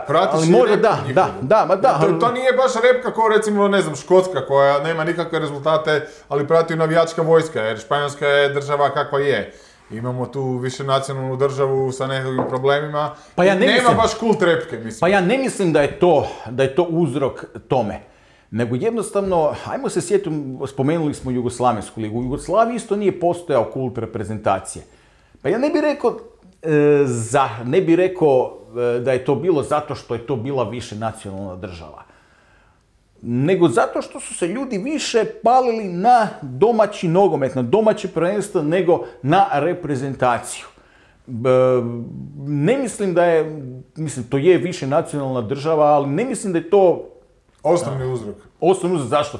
Pratiš i repku. To nije baš repka kao recimo, ne znam, Škotska koja nema nikakve rezultate, ali prati navijačka vojska, jer Španjolska je država kakva je. Imamo tu više nacionalnu državu sa nekakvim problemima. Nema baš kult repke, mislim. Pa ja ne mislim da je to uzrok tome. Nego jednostavno, ajmo se sjetiti, spomenuli smo Jugoslavensku ligu. U Jugoslaviji isto nije postojao kult reprezentacije. Pa ja ne bi rekao da je to bilo zato što je to bila više nacionalna država. Nego zato što su se ljudi više palili na domaći nogomet, na domaće prvenstvo, nego na reprezentaciju. Ne mislim da je, to je više nacionalna država, ali ne mislim da je to osnovni uzrok. Osnovni uzrok, zašto?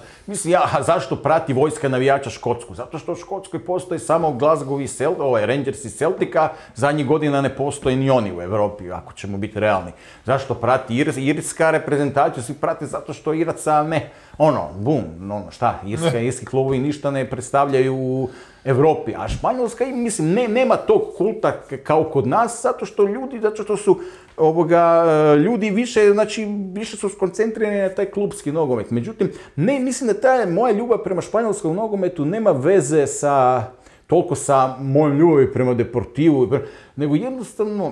Zašto prati vojska navijača Škotsku? Zato što u Škotskoj postoji samo Glasgow i Rangers i Celtica, zadnjih godina ne postoje ni oni u Europi, ako ćemo biti realni. Zašto prati irska reprezentaciju? Svi prate zato što Iraca irski klubovi ništa ne predstavljaju u Europi. A Španjolska, nema tog kulta kao kod nas, zato što su ljudi više su skoncentrirani na taj klubski nogomet. Međutim, mislim da ta moja ljubav prema španjolskom nogometu nema veze toliko sa mojom ljubavi prema Deportivu, nego jednostavno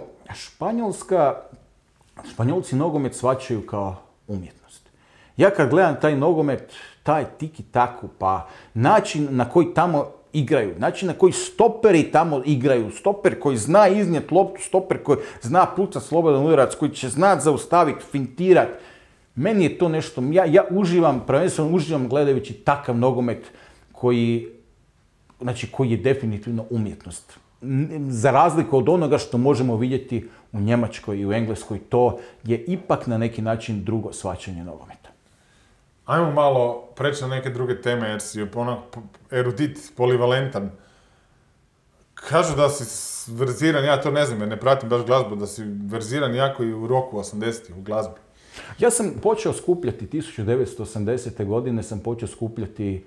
Španjolci nogomet shvaćaju kao umjetnost. Ja kad gledam taj nogomet, taj tiki-taku, pa način na koji tamo igraju, način na koji stoperi tamo igraju, stoper koji zna iznijeti loptu, stoper koji zna pucat slobodan udarac, koji će znat zaustaviti, fintirat. Meni je to nešto, ja prvenstveno uživam gledajući takav nogomet koji je definitivno umjetnost. Za razliku od onoga što možemo vidjeti u Njemačkoj i u Engleskoj, to je ipak na neki način drugo shvaćanje nogometa. Ajmo malo preći na neke druge teme, jer si erudit, polivalentan. Kažu da si verziran, ja to ne znam, jer ne pratim baš glazbu, da si verziran jako i u roku 80-ih u glazbi. Ja sam počeo skupljati 1980. godine, sam počeo skupljati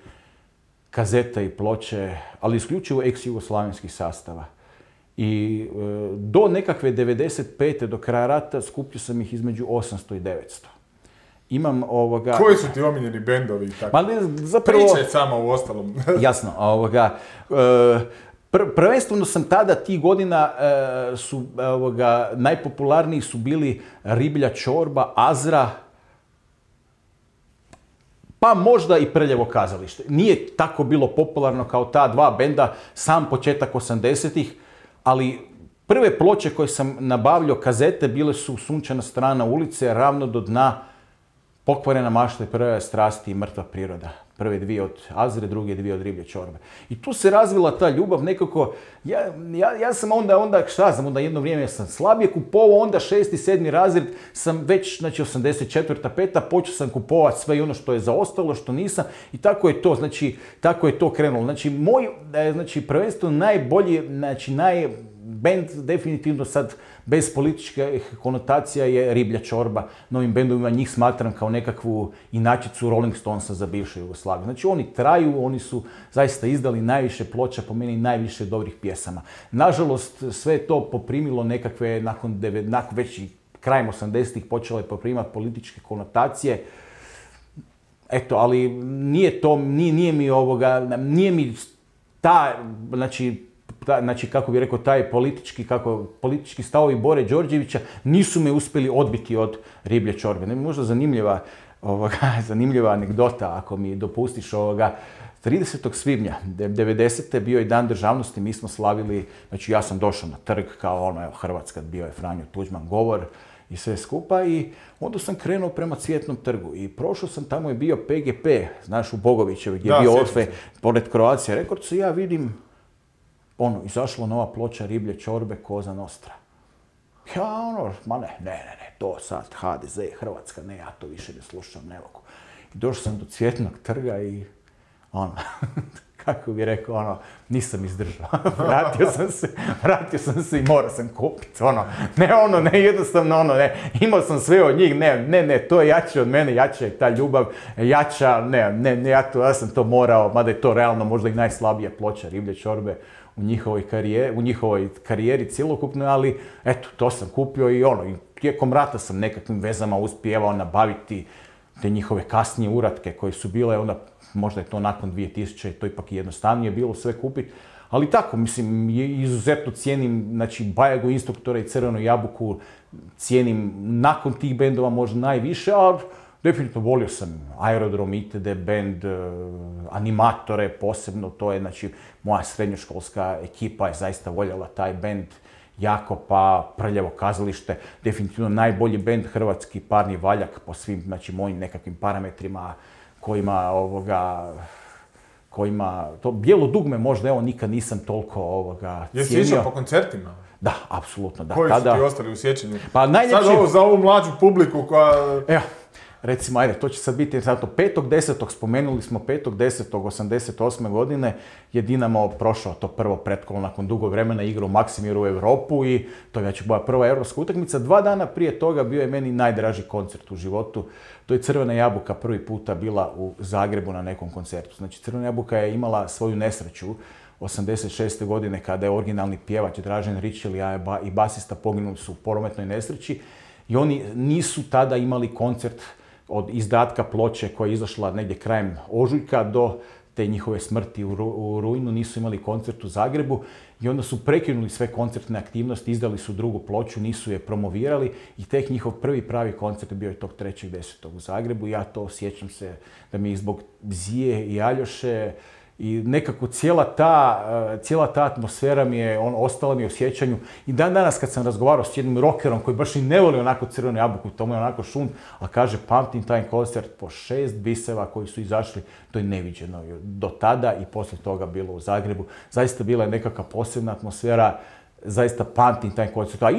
kazete i ploče, ali isključivo ex-jugoslavenskih sastava. I do nekakve 95. do kraja rata skupio sam ih između 800 i 900. Imam Koji su ti omiljeni bendovi i tako? Pričaj samo u ostalom. Jasno, prvenstveno sam tada tih godina najpopularniji su bili Riblja čorba, Azra, pa možda i Prljevo kazalište. Nije tako bilo popularno kao ta dva benda, sam početak 80-ih, ali prve ploče koje sam nabavljao, kazete, bile su Sunčana strana ulice, Ravno do dna, Pokvarena mašta, Prve strasti i Mrtva priroda. Prve dvije od Azre, druge dvije od Riblje čorbe. I tu se razvila ta ljubav nekako. Ja sam onda jedno vrijeme sam slabije kupovao, onda 6. i 7. razred sam već, 84. 5. počeo sam kupovati sve ono što je zaostalo, što nisam i tako je to krenulo. Moj, prvenstveno najbolji, band definitivno sad bez političkih konotacija je Riblja čorba. Novim bendovima njih smatram kao nekakvu inačicu Rolling Stonesa za bivšu Jugoslaviju. Oni traju, oni su zaista izdali najviše ploča, po meni najviše dobrih pjesama. Nažalost, sve je to poprimilo nekakve, nakon već i krajem 80-ih počelo je poprimati političke konotacije. Eto, ali nije mi ta, kako bih rekao, taj politički stavovi Bore Đorđevića nisu me uspjeli odbiti od Riblje čorbe. Možda zanimljiva anegdota, ako mi dopustiš, 30. svibnja 90. bio je Dan državnosti, mi smo slavili, ja sam došao na trg kao Hrvatska, bio je Franjo Tuđman govor i sve skupa i onda sam krenuo prema Cvjetnom trgu i prošao sam, tamo je bio PGP, znaš, u Bogovićevi, gdje je bio Orfe, pored Croatia Records, i ja vidim izašla nova ploča Riblje čorbe, Koza Nostra. Ja ne, to sad HDZ, Hrvatska, ne, ja to više ne slušam, ne mogu. I došao sam do Cvjetnog trga i kako bi rekao, nisam izdržao. Vratio sam se i morao sam kupiti, jednostavno, imao sam sve od njih, ne, to je jače od mene, jača je ta ljubav, jača, ja sam to morao, mada je to realno možda i najslabija ploča Riblje čorbe u njihovoj karijeri cjelokupnoj, ali eto, to sam kupio i tijekom rata sam nekakvim vezama uspijevao nabaviti te njihove kasnije uratke koje su bile, onda možda je to nakon 2000, to ipak jednostavnije bilo sve kupiti, ali tako, izuzetno cijenim, Bajagu Instruktora i Crvenu jabuku, cijenim nakon tih bendova možda najviše, ali Definitivno volio sam Aerodrom, itd., band, animatore posebno, to je, znači, moja srednjoškolska ekipa je zaista voljela taj band jako, pa Prljavo kazalište, definitivno najbolji band hrvatski, Parni valjak po svim, znači, mojim nekakvim parametrima kojima, to Bijelo dugme možda, evo, nikad nisam toliko cijenio. Jesi išao po koncertima? Da, apsolutno, da. Koji su ti ostali u sjećanju? Pa najljepši... Sad ovo za ovu mlađu publiku koja... Evo, recimo, ajde, to će sad biti, zato 5.10. spomenuli smo 5.10.88. godine je Dinamo prošao to prvo pretkolo nakon dugo vremena, igrao u Maksimiru u Europu i to je već moja prva europska utakmica. 2 dana prije toga bio je meni najdraži koncert u životu. To je Crvena jabuka prvi puta bila u Zagrebu na nekom koncertu. Znači, Crvena jabuka je imala svoju nesreću 86. godine kada je originalni pjevač Dražen Ričel i basista poginuli su u prometnoj nesreći i oni nisu tada imali koncert od izdatka ploče koja je izašla negdje krajem ožujka do te njihove smrti u rujnu, nisu imali koncert u Zagrebu i onda su prekinuli sve koncertne aktivnosti, izdali su drugu ploču, nisu je promovirali i tek njihov prvi pravi koncert bio je tog 3.10. u Zagrebu. Ja to sjećam se da mi zbog Zije i Aljoše i nekako cijela ta atmosfera mi je, ostala mi je u sjećanju. I dan danas kad sam razgovarao s jednim rockerom koji baš i ne voli onako Crvenu jabuku, to mu je onako šund, a kaže pamtim taj koncert po 6 biseva koji su izašli, to je neviđeno. Do tada i poslije toga bilo u Zagrebu. Zaista bila je nekakva posebna atmosfera, zaista pamtim taj koncert. A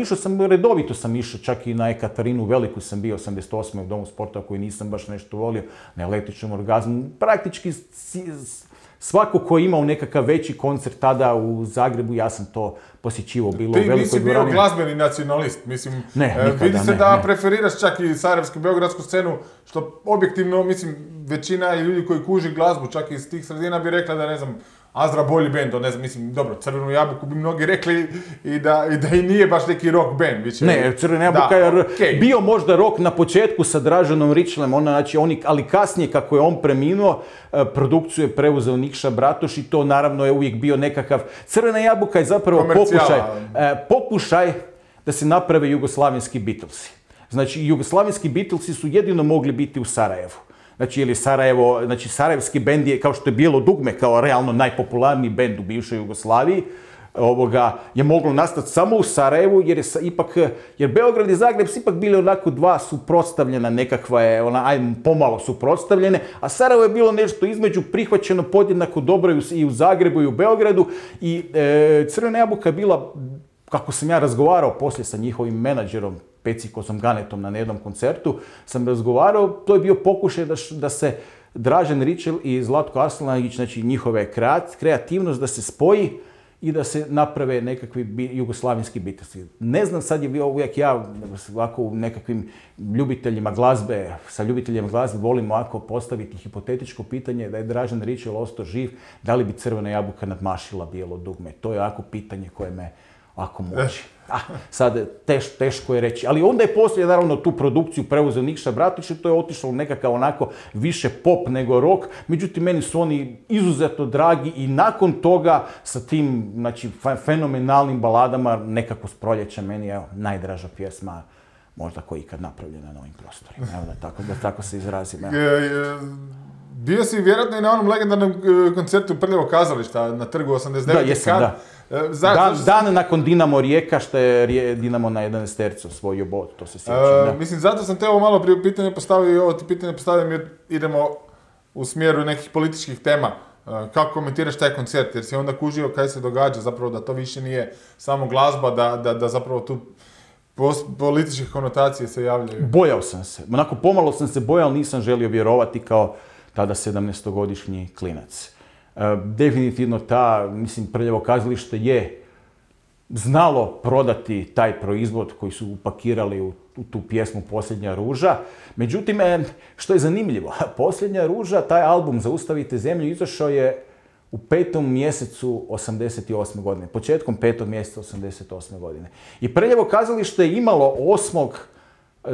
redovito sam išao, čak i na Ekaterinu Veliku sam bio 88. u Domu sporta koji nisam baš nešto volio, na Električnom orgazmu. Praktički svako ko je imao nekakav veći koncert tada u Zagrebu, ja sam to posjećivao, bilo u velikoj dvorani. Ti nisi bio glazbeni nacionalist, mislim, vidi se da preferiraš čak i sarajevsku, beogradsku scenu, što objektivno, mislim, većina ljudi koji kuži glazbu, čak iz tih sredina bi rekla da, ne znam, Azra bolji band, ne znam, mislim, dobro, Crvenu jabuku bi mnogi rekli i da i nije baš neki rock band. Ne, Crvena jabuka je bio možda rock na početku sa Draženom Ričelem, ali kasnije kako je on preminuo, produkciju je preuzeo Nikša Bratoš i to naravno je uvijek bio nekakav... Crvena jabuka je zapravo pokušaj da se naprave jugoslavenski Beatlesi. Znači, jugoslavenski Beatlesi su jedino mogli biti u Sarajevu. Znači, ili Sarajevo, znači sarajevski bend je, kao što je Bijelo dugme, kao realno najpopularniji bend u bivšoj Jugoslaviji, je moglo nastati samo u Sarajevu, jer Beograd i Zagreb su ipak bili onako dva suprotstavljena, nekakva je, pomalo suprotstavljene, a Sarajevo je bilo nešto između, prihvaćeno podjednako dobro i u Zagrebu i u Beogradu i Crvena jabuka je bila, kako sam ja razgovarao poslije sa njihovim menadžerom, Pecikosom Ganetom na jednom koncertu, sam razgovarao, to je bio pokušaj da se Dražen Ričel i Zlatko Aslanagić, znači njihove kreativnost da se spoji i da se naprave nekakvi jugoslavenski Beatlesi. Ne znam, sad je bio uvijek ja ovako u nekakvim ljubiteljima glazbe, sa ljubiteljima glazbe volim ovako postaviti hipotetičko pitanje da je Dražen Ričel ostao živ, da li bi Crvena jabuka nadmašila Bijelo dugme? To je ovako pitanje koje me ovako muči. Sad teško je reći, ali onda je poslije naravno tu produkciju preuzeo Nikša Bratoš i to je otišlo nekakav onako više pop nego rock, međutim meni su oni izuzetno dragi i nakon toga sa tim, znači, fenomenalnim baladama nekako s proljeća meni je najdraža pjesma možda koja je ikad napravljena na ovim prostorima, da tako se izrazim. Bio si vjerojatno i na onom legendarnom koncertu Prljavog kazališta na Trgu 89. Da, jesam, da. Dan nakon Dinamo Rijeka, što je Dinamo na 11 osvojio bod, to se sjećam. Mislim, zato sam te ovo malo prije pitanje postavio i ovo ti pitanje postavljam jer idemo u smjeru nekih političkih tema. Kako komentiraš taj koncert? Jer si onda kužio kaj se događa, zapravo da to više nije samo glazba, da zapravo tu političke konotacije se javljaju. Bojao sam se. Onako pomalo sam se bojao, ali nisam želio vjerovati kao tada 17-godišnji klinac. Definitivno Prljavo kazalište je znalo prodati taj proizvod koji su upakirali u tu pjesmu Posljednja ruža. Međutim, što je zanimljivo, Posljednja ruža, taj album Zaustavite zemlju, izašao je u 5. mjesecu 88. godine, početkom 5. mjeseca 88. godine. I Prljavo kazalište je imalo 8.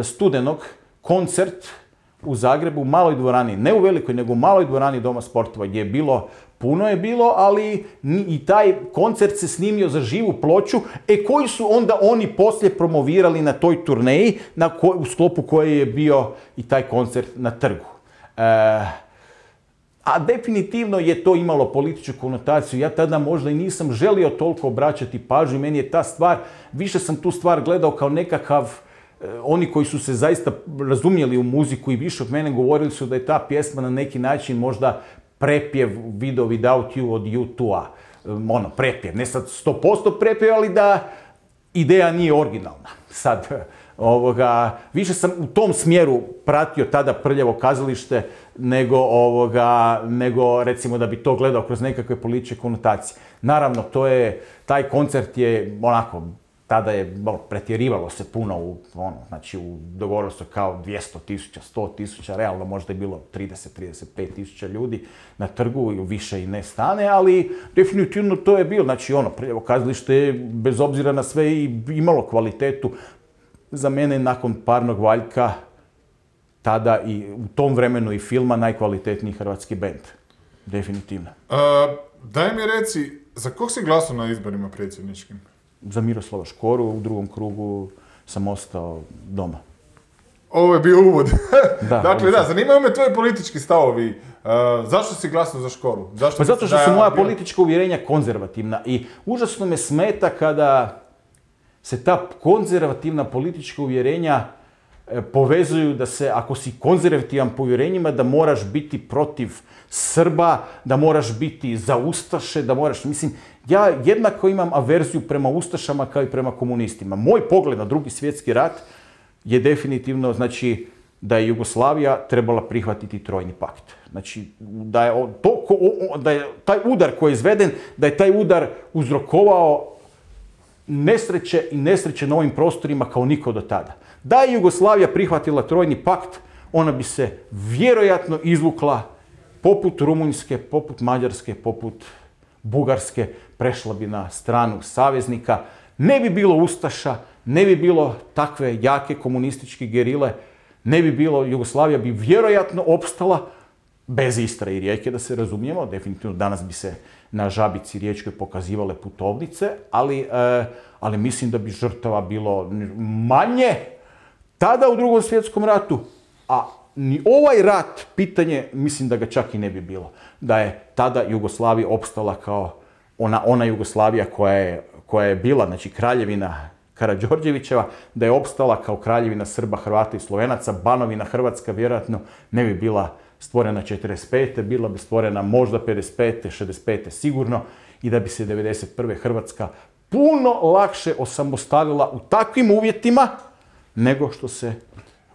studenog koncert u Zagrebu, u maloj dvorani, ne u velikoj, nego u maloj dvorani Doma sportova, gdje je bilo puno je bilo, ali i taj koncert se snimio za živu ploču, koji su onda oni poslije promovirali na toj turneji, u sklopu koje je bio i taj koncert na trgu. A definitivno je to imalo političku konotaciju. Ja tada možda i nisam želio toliko obraćati pažnju. Meni je ta stvar, više sam tu stvar gledao kao nekakav, oni koji su se zaista razumjeli u muziku i više od mene govorili su da je ta pjesma na neki način možda prepjev Video Without You od U2-a. Prepjev, ne sad 100% prepjev, ali da ideja nije originalna. Sad, više sam u tom smjeru pratio tada Prljavo kazalište nego recimo da bi to gledao kroz nekakve političke konotacije. Naravno, taj koncert je tada je pretjerivalo se puno dogovorilo se kao 200.000, 100.000, realno možda je bilo 30-35.000 ljudi na trgu, više i ne stane, ali definitivno to je bilo, Prljavo kazalište je bez obzira na sve i imalo kvalitetu. Za mene nakon Parnog Valjka, tada i u tom vremenu i filma, najkvalitetniji hrvatski bend. Definitivno. Daj mi reci, za kog si glasao na izborima predsjedničkim? Za Miroslava Škoru, u drugom krugu sam ostao doma. Ovo je bio uvod. Dakle, zanimaju me tvoji politički stavovi. Zašto si glasao za Škoru? Zato što su moja politička uvjerenja konzervativna i užasno me smeta kada se ta konzervativna politička uvjerenja povezuju da se, ako si konzervativan po uvjerenjima, da moraš biti protiv Srba, da moraš biti za Ustaše, ja jednako imam averziju prema Ustašama kao i prema komunistima. Moj pogled na Drugi svjetski rat je definitivno, da je Jugoslavija trebala prihvatiti Trojni pakt. Da je taj udar koji je izveden, da je taj udar uzrokovao nesreće na ovim prostorima kao niko do tada. Da je Jugoslavija prihvatila Trojni pakt, ona bi se vjerojatno izvukla poput Rumunjske, poput Mađarske, poput Bugarske, prešla bi na stranu saveznika, ne bi bilo Ustaša, ne bi bilo takve jake komunističke gerile, ne bi bilo, Jugoslavija bi vjerojatno opstala bez Istre i Rijeke, da se razumijemo, definitivno danas bi se na Žabici riječkoj pokazivale putovnice, ali mislim da bi žrtava bilo manje tada u Drugom svjetskom ratu, a ni ovaj rat, pitanje, mislim da ga čak i ne bi bilo. Da je tada Jugoslavija opstala kao ona Jugoslavija koja je bila, kraljevina Karađorđevićeva, da je opstala kao kraljevina Srba, Hrvata i Slovenaca, Banovina Hrvatska vjerojatno ne bi bila stvorena 45. bila bi stvorena možda 55. 65. sigurno i da bi se 91. Hrvatska puno lakše osamostalila u takvim uvjetima nego što se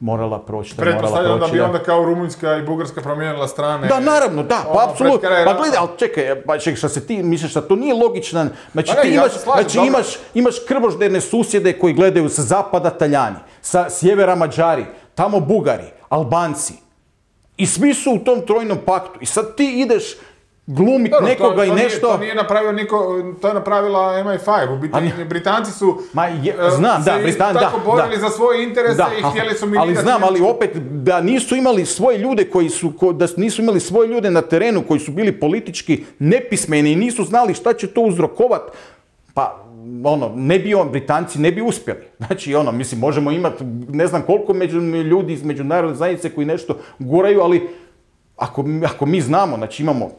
morala proći. Pretpostavljam da bi onda kao Rumunjska i Bugarska promijenila strane. Da, naravno, da, pa apsolutno. Pa gledaj, ali čekaj, što se ti misliš da to nije logično. Imaš krvožderne susjede koji gledaju sa zapada Taljani, sa sjevera Mađari, tamo Bugari, Albanci. I svi su u tom Trojnom paktu. I sad ti ideš glumit nekoga i nešto... To nije napravio niko, to je napravila MI5. U biti, Britanci su tako borili za svoje interese i htjeli su minirati... Ali znam, ali opet da nisu imali svoje ljude da nisu imali svoje ljude na terenu koji su bili politički nepismeni i nisu znali šta će to uzrokovat, pa Britanci ne bi uspjeli. Možemo imati ne znam koliko ljudi iz međunarodne zajednice koji nešto guraju, ali ako mi znamo, imamo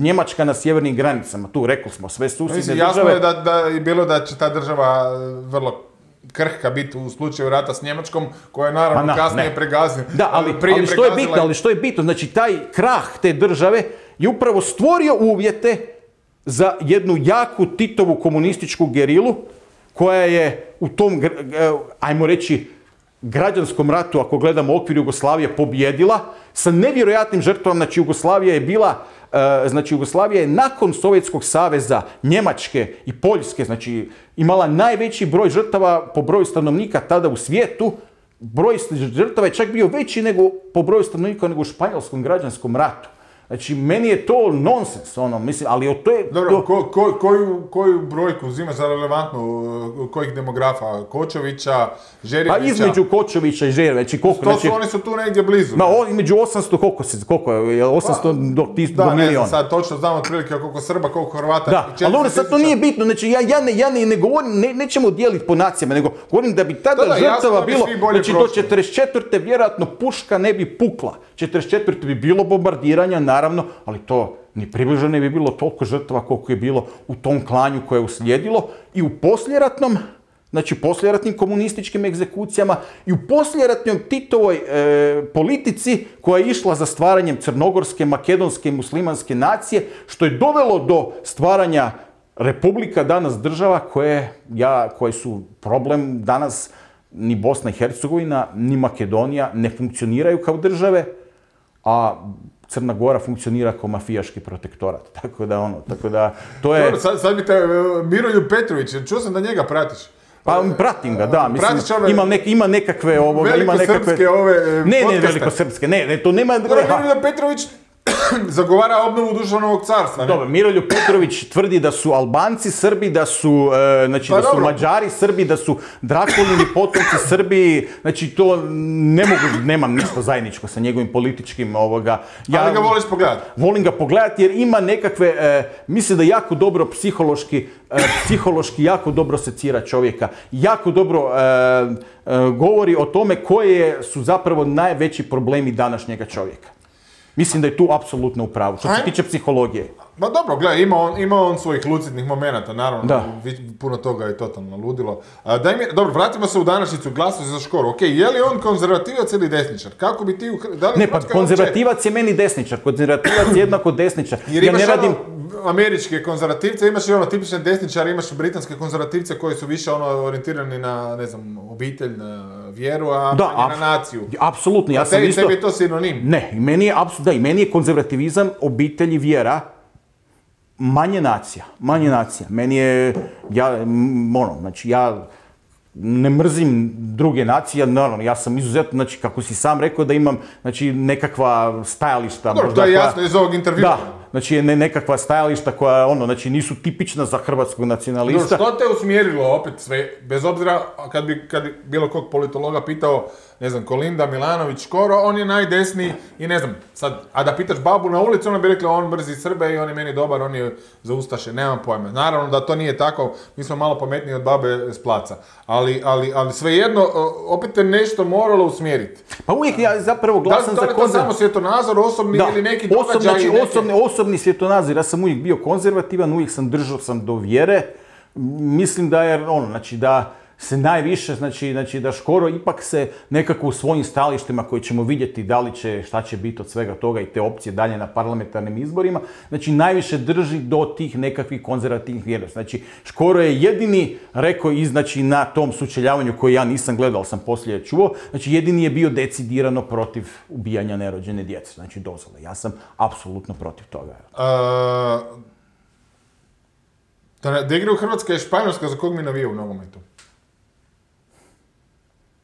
Njemačka na sjevernim granicama, tu rekli smo, sve susjedne države... Jasno je da je bilo da će ta država vrlo krhka biti u slučaju rata s Njemačkom, koja je naravno kasnije pregazila. Da, ali što je bitno, taj krah te države je upravo stvorio uvjete za jednu jaku Titovu komunističku gerilu, koja je u tom, ajmo reći, građanskom ratu, ako gledamo okvir Jugoslavije, pobjedila sa nevjerojatnim žrtvama. Jugoslavija je nakon Sovjetskog saveza, Njemačke i Poljske, imala najveći broj žrtava po broju stanovnika tada u svijetu. Broj žrtava je čak bio veći nego po broju stanovnika nego u Španjolskom građanskom ratu. Znači, meni je to nonsens, ono, mislim, ali to je... Dobro, koju brojku uzima za relevantnu, kojih demografa? Kočevića, Žerjevića? Pa između Kočevića i Žerjevića, znači koliko... Znači, oni su tu negdje blizu. Između 800, koliko je, 800 do 1000 do milijuna. Da, ne znam, sad točno znam otprilike koliko Srba, koliko Hrvata. Da, ali dobro, sad to nije bitno, znači ja ne govorim, nećemo dijeliti po nacijama, nego govorim da bi tada žrtava bilo, znači do 44. vjerojatno puška ne bi pukla, 44. bi bilo bombardiranja, naravno, ali to ni približno ne bi bilo toliko žrtava koliko je bilo u tom klanju koje je uslijedilo i u poslijeratnom, znači poslijeratnim komunističkim egzekucijama i u poslijeratnoj Titovoj politici koja je išla za stvaranjem crnogorske, makedonske i muslimanske nacije, što je dovelo do stvaranja republika, danas država koje su problem danas. Ni Bosna i Hercegovina, ni Makedonija ne funkcioniraju kao države, a Crna Gora funkcionira kao mafijaški protektorat. Tako da, to je... Dobro, sad bi te Miroljub Petrović, čuo sam da njega pratiš. Pa pratim ga, da, mislim, ima nekakve velikosrpske podcaste. Ne, velikosrpske, to nema... Miroljub Petrović zagovara obnovu duševnog carstva, ne? Dobro, Miroljub Petrović tvrdi da su Albanci Srbi, da su, znači, da su Mađari Srbi, da su Drakulini potomci Srbi, znači to nemam ništa zajedničko sa njegovim političkim Ali ga voliš pogledati? Volim ga pogledati jer ima nekakve, mislim da jako dobro psihološki jako dobro secira čovjeka, jako dobro govori o tome koje su zapravo najveći problemi današnjega čovjeka. Mislim da je tu apsolutno u pravu, što se tiče psihologije. Ma dobro, gledaj, ima on svojih lucidnih momenata, naravno, puno toga je totalno ludilo. Dobro, vratimo se u današnjicu, glasovi za Škoru. Ok, je li on konzervativac ili desničar? Kako bi ti... Ne, pa konzervativac je meni desničar, konzervativac je jednako desničar. Jer imaš američke konzervativce, imaš i tipične desničare, imaš britanske konzervativce koji su više orijentirani na, ne znam, obitelj, na vjeru, a manje na naciju. Apsolutno, ja sam isto... Tebi je to sinonim. Ne, i meni je konzervativizam, obitelj i vjera manje nacija. Meni je, ja ne mrzim druge nacije, naravno, ja sam izuzetno, znači, kako si sam rekao da imam, znači, nekakva stajališta. Dobro, to je jasno iz ovog intervjua. Da, znači, nekakva stajališta koja, znači, nisu tipična za hrvatskog nacionalista. Što te usmjerilo opet sve, bez obzira, kad bi bilo kog politologa pitao, ne znam, Kolinda, Milanović, Škoro, on je najdesniji i ne znam, sad, a da pitaš babu na ulici, ona bi rekla, on mrzi Srbe i on je meni dobar, on je za ustaše, nemam pojma. Naravno da to nije tako, mi smo malo pametniji od babe s placa, ali svejedno, opet te nešto moralo usmjeriti. Pa uvijek ja zapravo glasam za konzervativizam. Da li to samo svjetonazor, osobni ili neki događaj? Osobni svjetonazor, ja sam uvijek bio konzervativan, uvijek sam držao do vjere. Mislim da je znači da se najviše, znači da Škoro ipak se nekako u svojim stajalištima koji ćemo vidjeti da li će, šta će biti od svega toga i te opcije dalje na parlamentarnim izborima, znači najviše drži do tih nekakvih konzervativnih vrijednosti. Znači Škoro je jedini rekao znači na tom sučeljavanju koji ja nisam gledao, ali sam poslije čuo, znači jedini je bio decidirano protiv ubijanja nerođene djece, znači dozvole. Ja sam apsolutno protiv toga. Da igra u Hrvatska i Španjolska, za kog mi navija u nogometu?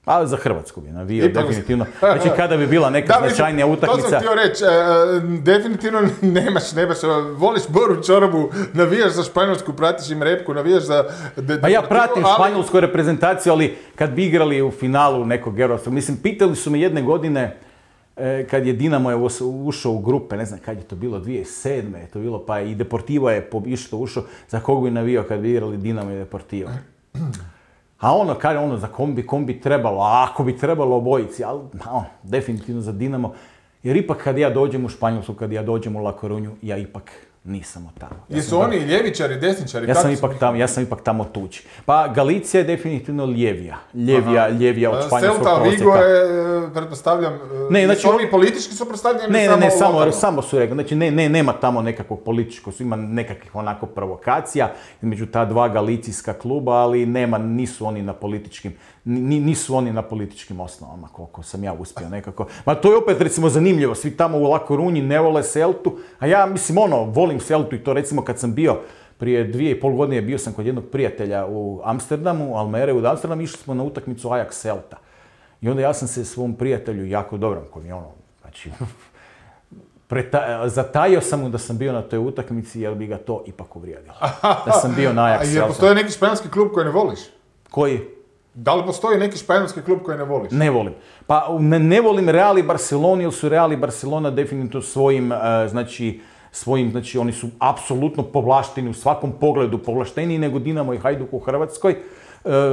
A za Hrvatsku bi navio, definitivno. Znači kada bi bila neka značajnija utakmica... To sam htio reći, definitivno nemaš, voliš boru čorobu, navijaš za Španjolsku, pratiš im repku, navijaš za... Pa ja pratim španjolsku reprezentaciju, ali kad bi igrali u finalu nekog europskog, mislim, pitali su me jedne godine, kad je Dinamo ušao u grupe, ne znam kad je to bilo, 2007. je to bilo, pa i Deportivo je isto ušao, za kog bi navio kad bi igrali Dinamo i Deportivo. A kaže za kom bi trebalo, a ako bi trebalo obojici, ali definitivno za Dinamo. Jer ipak kad ja dođem u Španjolsku, kad ja dođem u La Corunju, ja ipak nisam tamo. Jesu oni ljevičari, desničari? Ja sam ipak tamo tuđi. Pa Galicija je definitivno ljevija od španjolskog prosjeka. Celta Vigo je, pretpostavljam, znači oni politički su predstavljeni? Ne, samo su rekli. Znači nema tamo nekakvog političkog, ima nekakvih onako provokacija između ta dva galicijska kluba, ali nisu oni na političkim osnovama, koliko sam ja uspio nekako. Ma to je opet recimo zanimljivo, svi tamo u La Corunji ne vole Celtu, a ja mislim volim Celtu i to recimo kad sam bio prije 2,5 godine bio sam kod jednog prijatelja u Amsterdamu, Almere u Amsterdamu, išli smo na utakmicu Ajax Celta. I onda ja sam se svom prijatelju jako dobrom, koji je znači zatajio sam mu da sam bio na toj utakmici jer bi ga to ipak uvrijedilo. Da sam bio na Ajaxu. Jer postoji neki španjolski klub koji ne voliš? Koji? Da li postoji neki španjolski klub koji ne voliš? Ne volim. Pa ne volim Real i Barcelonu, jer su Real i Barcelona definitivno svojim, oni su apsolutno povlašteni u svakom pogledu, povlašteniji nego Dinamo i Hajduk u Hrvatskoj.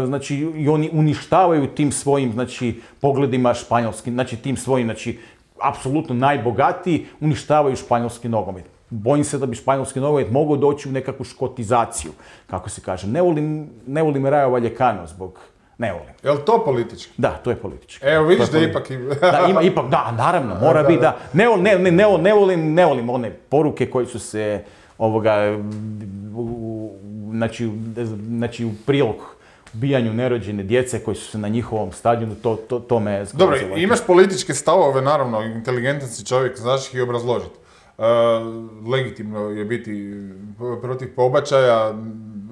Znači, i oni uništavaju tim svojim, znači, pogledima španjolskim, znači, tim svojim, znači, apsolutno najbogatiji, uništavaju španjolski nogomet. Bojim se da bi španjolski nogomet mogao doći u nekakvu škotizaciju, kako se kaže. Ne volim Rayo Vallecano zbog... Ne volim. Je li to politički? Da, to je politički. Evo, vidiš da ipak... Da, ima ipak, da, naravno, mora biti da... Ne volim one poruke koje su se, znači u prilog ubijanju nerođene djece koji su se na njihovom stadionu, to me zgrozilo. Dobro, imaš političke stavove, naravno, inteligentan si čovjek, znaš ih i obrazložiti. Legitimno je biti protiv pobačaja,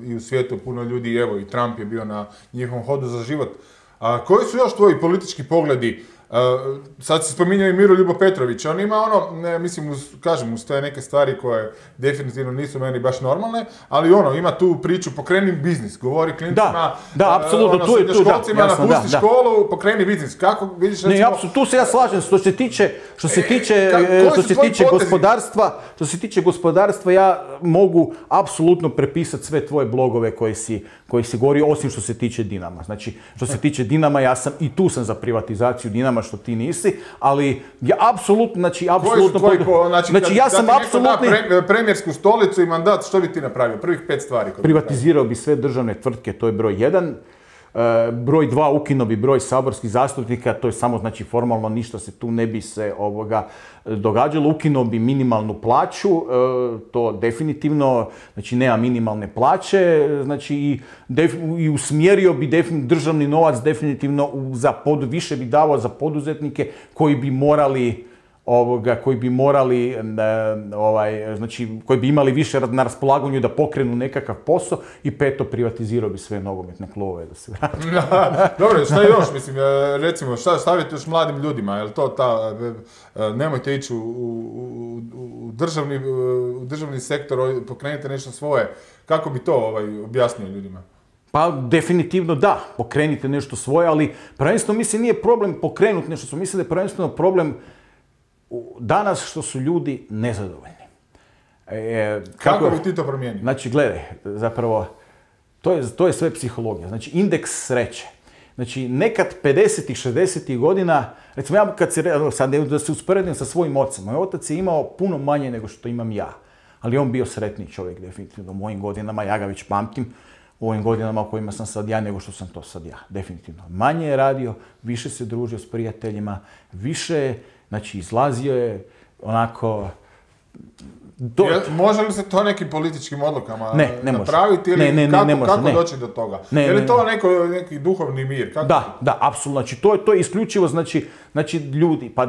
i u svijetu puno ljudi, evo i Trump je bio na njihovom hodu za život. Koji su još tvoji politički pogledi? Sad se spominjao i Miroljubo Petrović, on ima uz te neke stvari koje definitivno nisu meni baš normalne, ali ima tu priču pokreni biznis, govori klincima, srednjoškolcima, napusti školu, pokreni biznis. Kako vidiš recimo... Tu se ja slažem, što se tiče gospodarstva, ja mogu apsolutno prepisati sve tvoje blogove koji si govorio, osim što se tiče Dinama. Znači, što se tiče Dinama, tu sam za privatizaciju Dinama, što ti nisi, ali ja apsolutno, ja sam apsolutni... Premijersku stolicu i mandat, što bi ti napravio? Prvih 5 stvari. Privatizirao bi sve državne tvrtke, to je broj 1. Broj 2, ukinuo bi broj saborskih zastupnika, to je samo, znači, formalno ništa se tu ne bi se događalo. Ukinuo bi minimalnu plaću, to definitivno, znači nema minimalne plaće, znači i usmjerio bi državni novac definitivno više bi davao za poduzetnike koji bi imali više na raspolaganju da pokrenu nekakav posao i 5. privatizirao bi sve nogometne klubove da se vrati. Dobro, šta još, mislim, recimo, šta stavite još mladim ljudima, je li to nemojte ići u državni sektor, pokrenite nešto svoje, kako bi to objasnio ljudima? Pa definitivno da, pokrenite nešto svoje, ali prvenstveno mislim nije problem pokrenuti nešto svoje, mislim da je prvenstveno problem danas što su ljudi nezadovoljni. Kako bi ti to promijenio? Znači, gledaj, zapravo, to je sve psihologija. Znači, indeks sreće. Znači, nekad 50-ih, 60-ih godina, recimo ja sad da se usporedim sa svojim ocem, moj otac je imao puno manje nego što imam ja. Ali on bio sretniji čovjek, definitivno, u mojim godinama, ja ga već pamtim, u ovim godinama u kojima sam sad ja nego što sam to sad ja, definitivno. Manje je radio, više se družio s prijateljima, više, znači, izlazio je onako... Može li se to nekim političkim odlukama napraviti ili kako doći do toga? Je li to neki duhovni mir? Da, apsolutno. Znači, to je isključivo, znači ljudi. Pa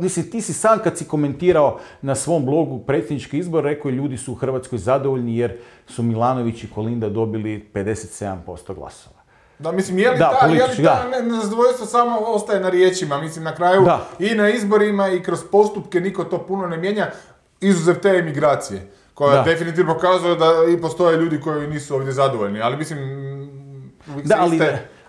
mislim, ti si sam kad si komentirao na svom blogu predsjednički izbor, rekao je ljudi su u Hrvatskoj zadovoljni jer su Milanović i Kolinda dobili 57% glasova. Da, mislim, je li ta nezadovoljstvo samo ostaje na riječima? Mislim, na kraju i na izborima i kroz postupke niko to puno ne mijenja. Izuzev te emigracije, koja definitivno pokazuje da i postoje ljudi koji nisu ovdje zadovoljni, ali mislim...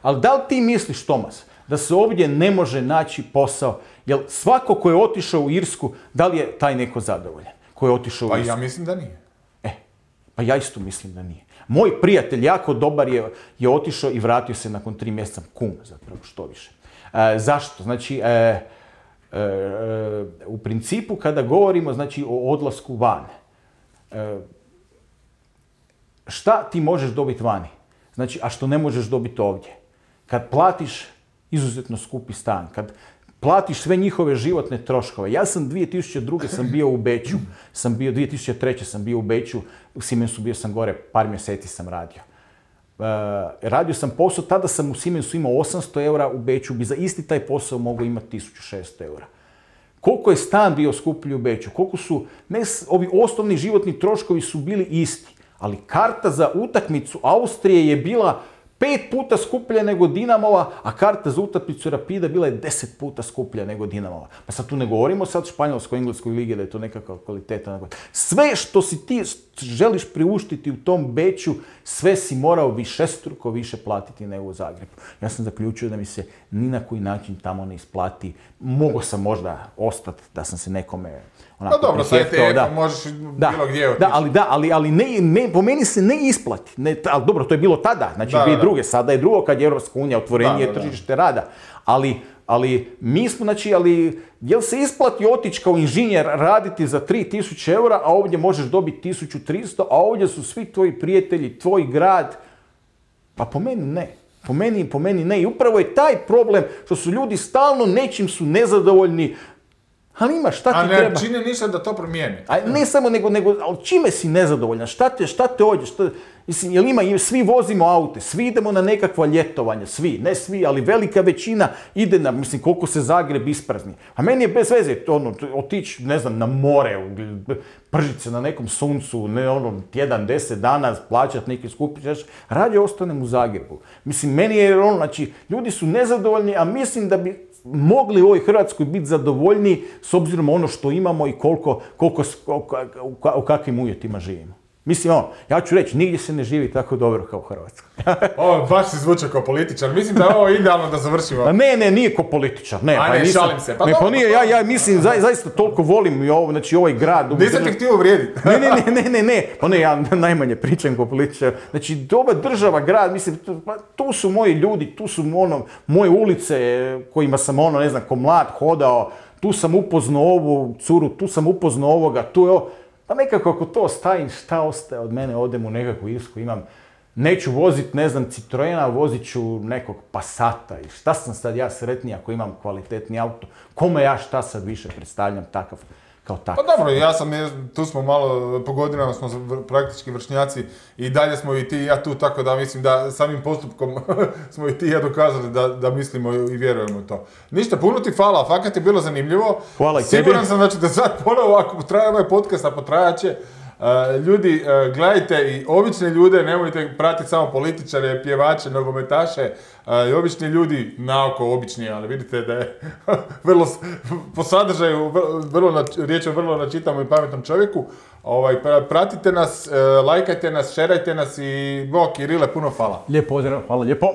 Ali da li ti misliš, Tomas, da se ovdje ne može naći posao? Jel svako ko je otišao u Irsku, da li je taj neko zadovoljan? Ko je otišao u Irsku? Pa ja mislim da nije. Pa ja isto mislim da nije. Moj prijatelj, jako dobar, je otišao i vratio se nakon 3 mjeseca, kum zapravo, što više. Zašto? Znači... u principu kada govorimo, znači, o odlasku van, šta ti možeš dobiti vani? Znači, a što ne možeš dobiti ovdje? Kad platiš izuzetno skupi stan, kad platiš sve njihove životne troškove. Ja sam 2002. sam bio u Beču, 2003. sam bio u Beču, u Siemensu bio sam gore, par mjeseci sam radio. Radio sam posao, tada sam u Siemensu imao 800 eura, u Beču bi za isti taj posao mogao imati 1600 eura. Koliko je stan bio skuplji u Beču, koliko su, ovi osnovni životni troškovi su bili isti, ali karta za utakmicu Austrije je bila 5 puta skuplja nego Dinamova, a karta za utakmicu Rapida bila je 10 puta skuplja nego Dinamova. Pa sad tu ne govorimo sad španjolskoj, engleskoj ligi da je to nekakva kvaliteta. Sve što si ti želiš priuštiti u tom Beču, sve si morao višestruko više platiti nego u Zagrebu. Ja sam zaključio da mi se ni na koji način tamo ne isplati. Mogao sam možda ostati da sam se nekome onako dobro, sa ETF-om možeš bilo gdje otići. Ali ne, po meni se ne isplati. Ali dobro, to je bilo tada, znači 2002. Sada je drugo kad je Europska unija, otvorenije tržište rada. Ali mi smo, znači, jel se isplati otići kao inženjer raditi za 3000 eura, a ovdje možeš dobiti 1300, a ovdje su svi tvoji prijatelji, tvoj grad? Pa po meni ne. Po meni ne. I upravo je taj problem što su ljudi stalno nečim su nezadovoljni. Ali ima, šta ti treba? A ne čine ništa da to promijeni. A ne samo, nego ali čime si nezadovoljan? Šta te ođe? Mislim, jel ima, svi vozimo aute, svi idemo na nekakva ljetovanja, svi, ne svi, ali velika većina ide na, mislim, koliko se Zagreb isprazni. A meni je bez veze, otići, ne znam, na more, pržiti se na nekom suncu, tjedan, 10 dana, plaćati neki skupi, rađe ostanem u Zagrebu. Mislim, meni je znači, ljudi su nezadovoljni, a mislim da bi mogli u ovoj Hrvatskoj biti zadovoljni s obzirom ono što imamo i u kakvim uvjetima živimo. Mislim, ja ću reći, nigdje se ne živi tako dobro kao u Hrvatskoj. Baš si zvučao kao političar. Mislim da je ovo idealno da završimo. Ne, nije kao političar. Ne, šalim se. Pa nije, ja mislim, zaista toliko volim ovaj grad. Nisam ti htio uvrijediti. Ne. Pa ne, ja najmanje pričam kao političar. Znači, ova država, grad, mislim, tu su moji ljudi, tu su moje ulice kojima sam, ne znam, ko mlad hodao, tu sam upoznao ovu curu, tu sam upoznao ovoga, tu je pa nekako ako to ostavim, šta ostaje od mene, odem u nekakvu Irsku, neću voziti, ne znam, Citroena, vozit ću nekog Passata i šta sam sad ja sretniji ako imam kvalitetni auto, kome ja šta sad više predstavljam takav kao takav. Pa dobro, tu smo malo, po godinama smo praktički vršnjaci i dalje smo i ti i ja tu, tako da mislim da samim postupkom smo i ti i ja dokazali da mislimo i vjerujemo u to. Ništa, puno ti hvala, fakat je bilo zanimljivo. Hvala i tebi. Siguran sam da sad ponovo, ako traje ovaj podcast, a potrajat će, ljudi, gledajte i obične ljude, nemojte pratiti samo političare, pjevače, nogometaše, i obični ljudi, naoko obični, ali vidite da je vrlo, po sadržaju, riječ je o vrlo načitamom i pametnom čovjeku. Pratite nas, lajkajte nas, šerajte nas i Kirile, puno hvala. Lijep pozdrav, hvala lijepo.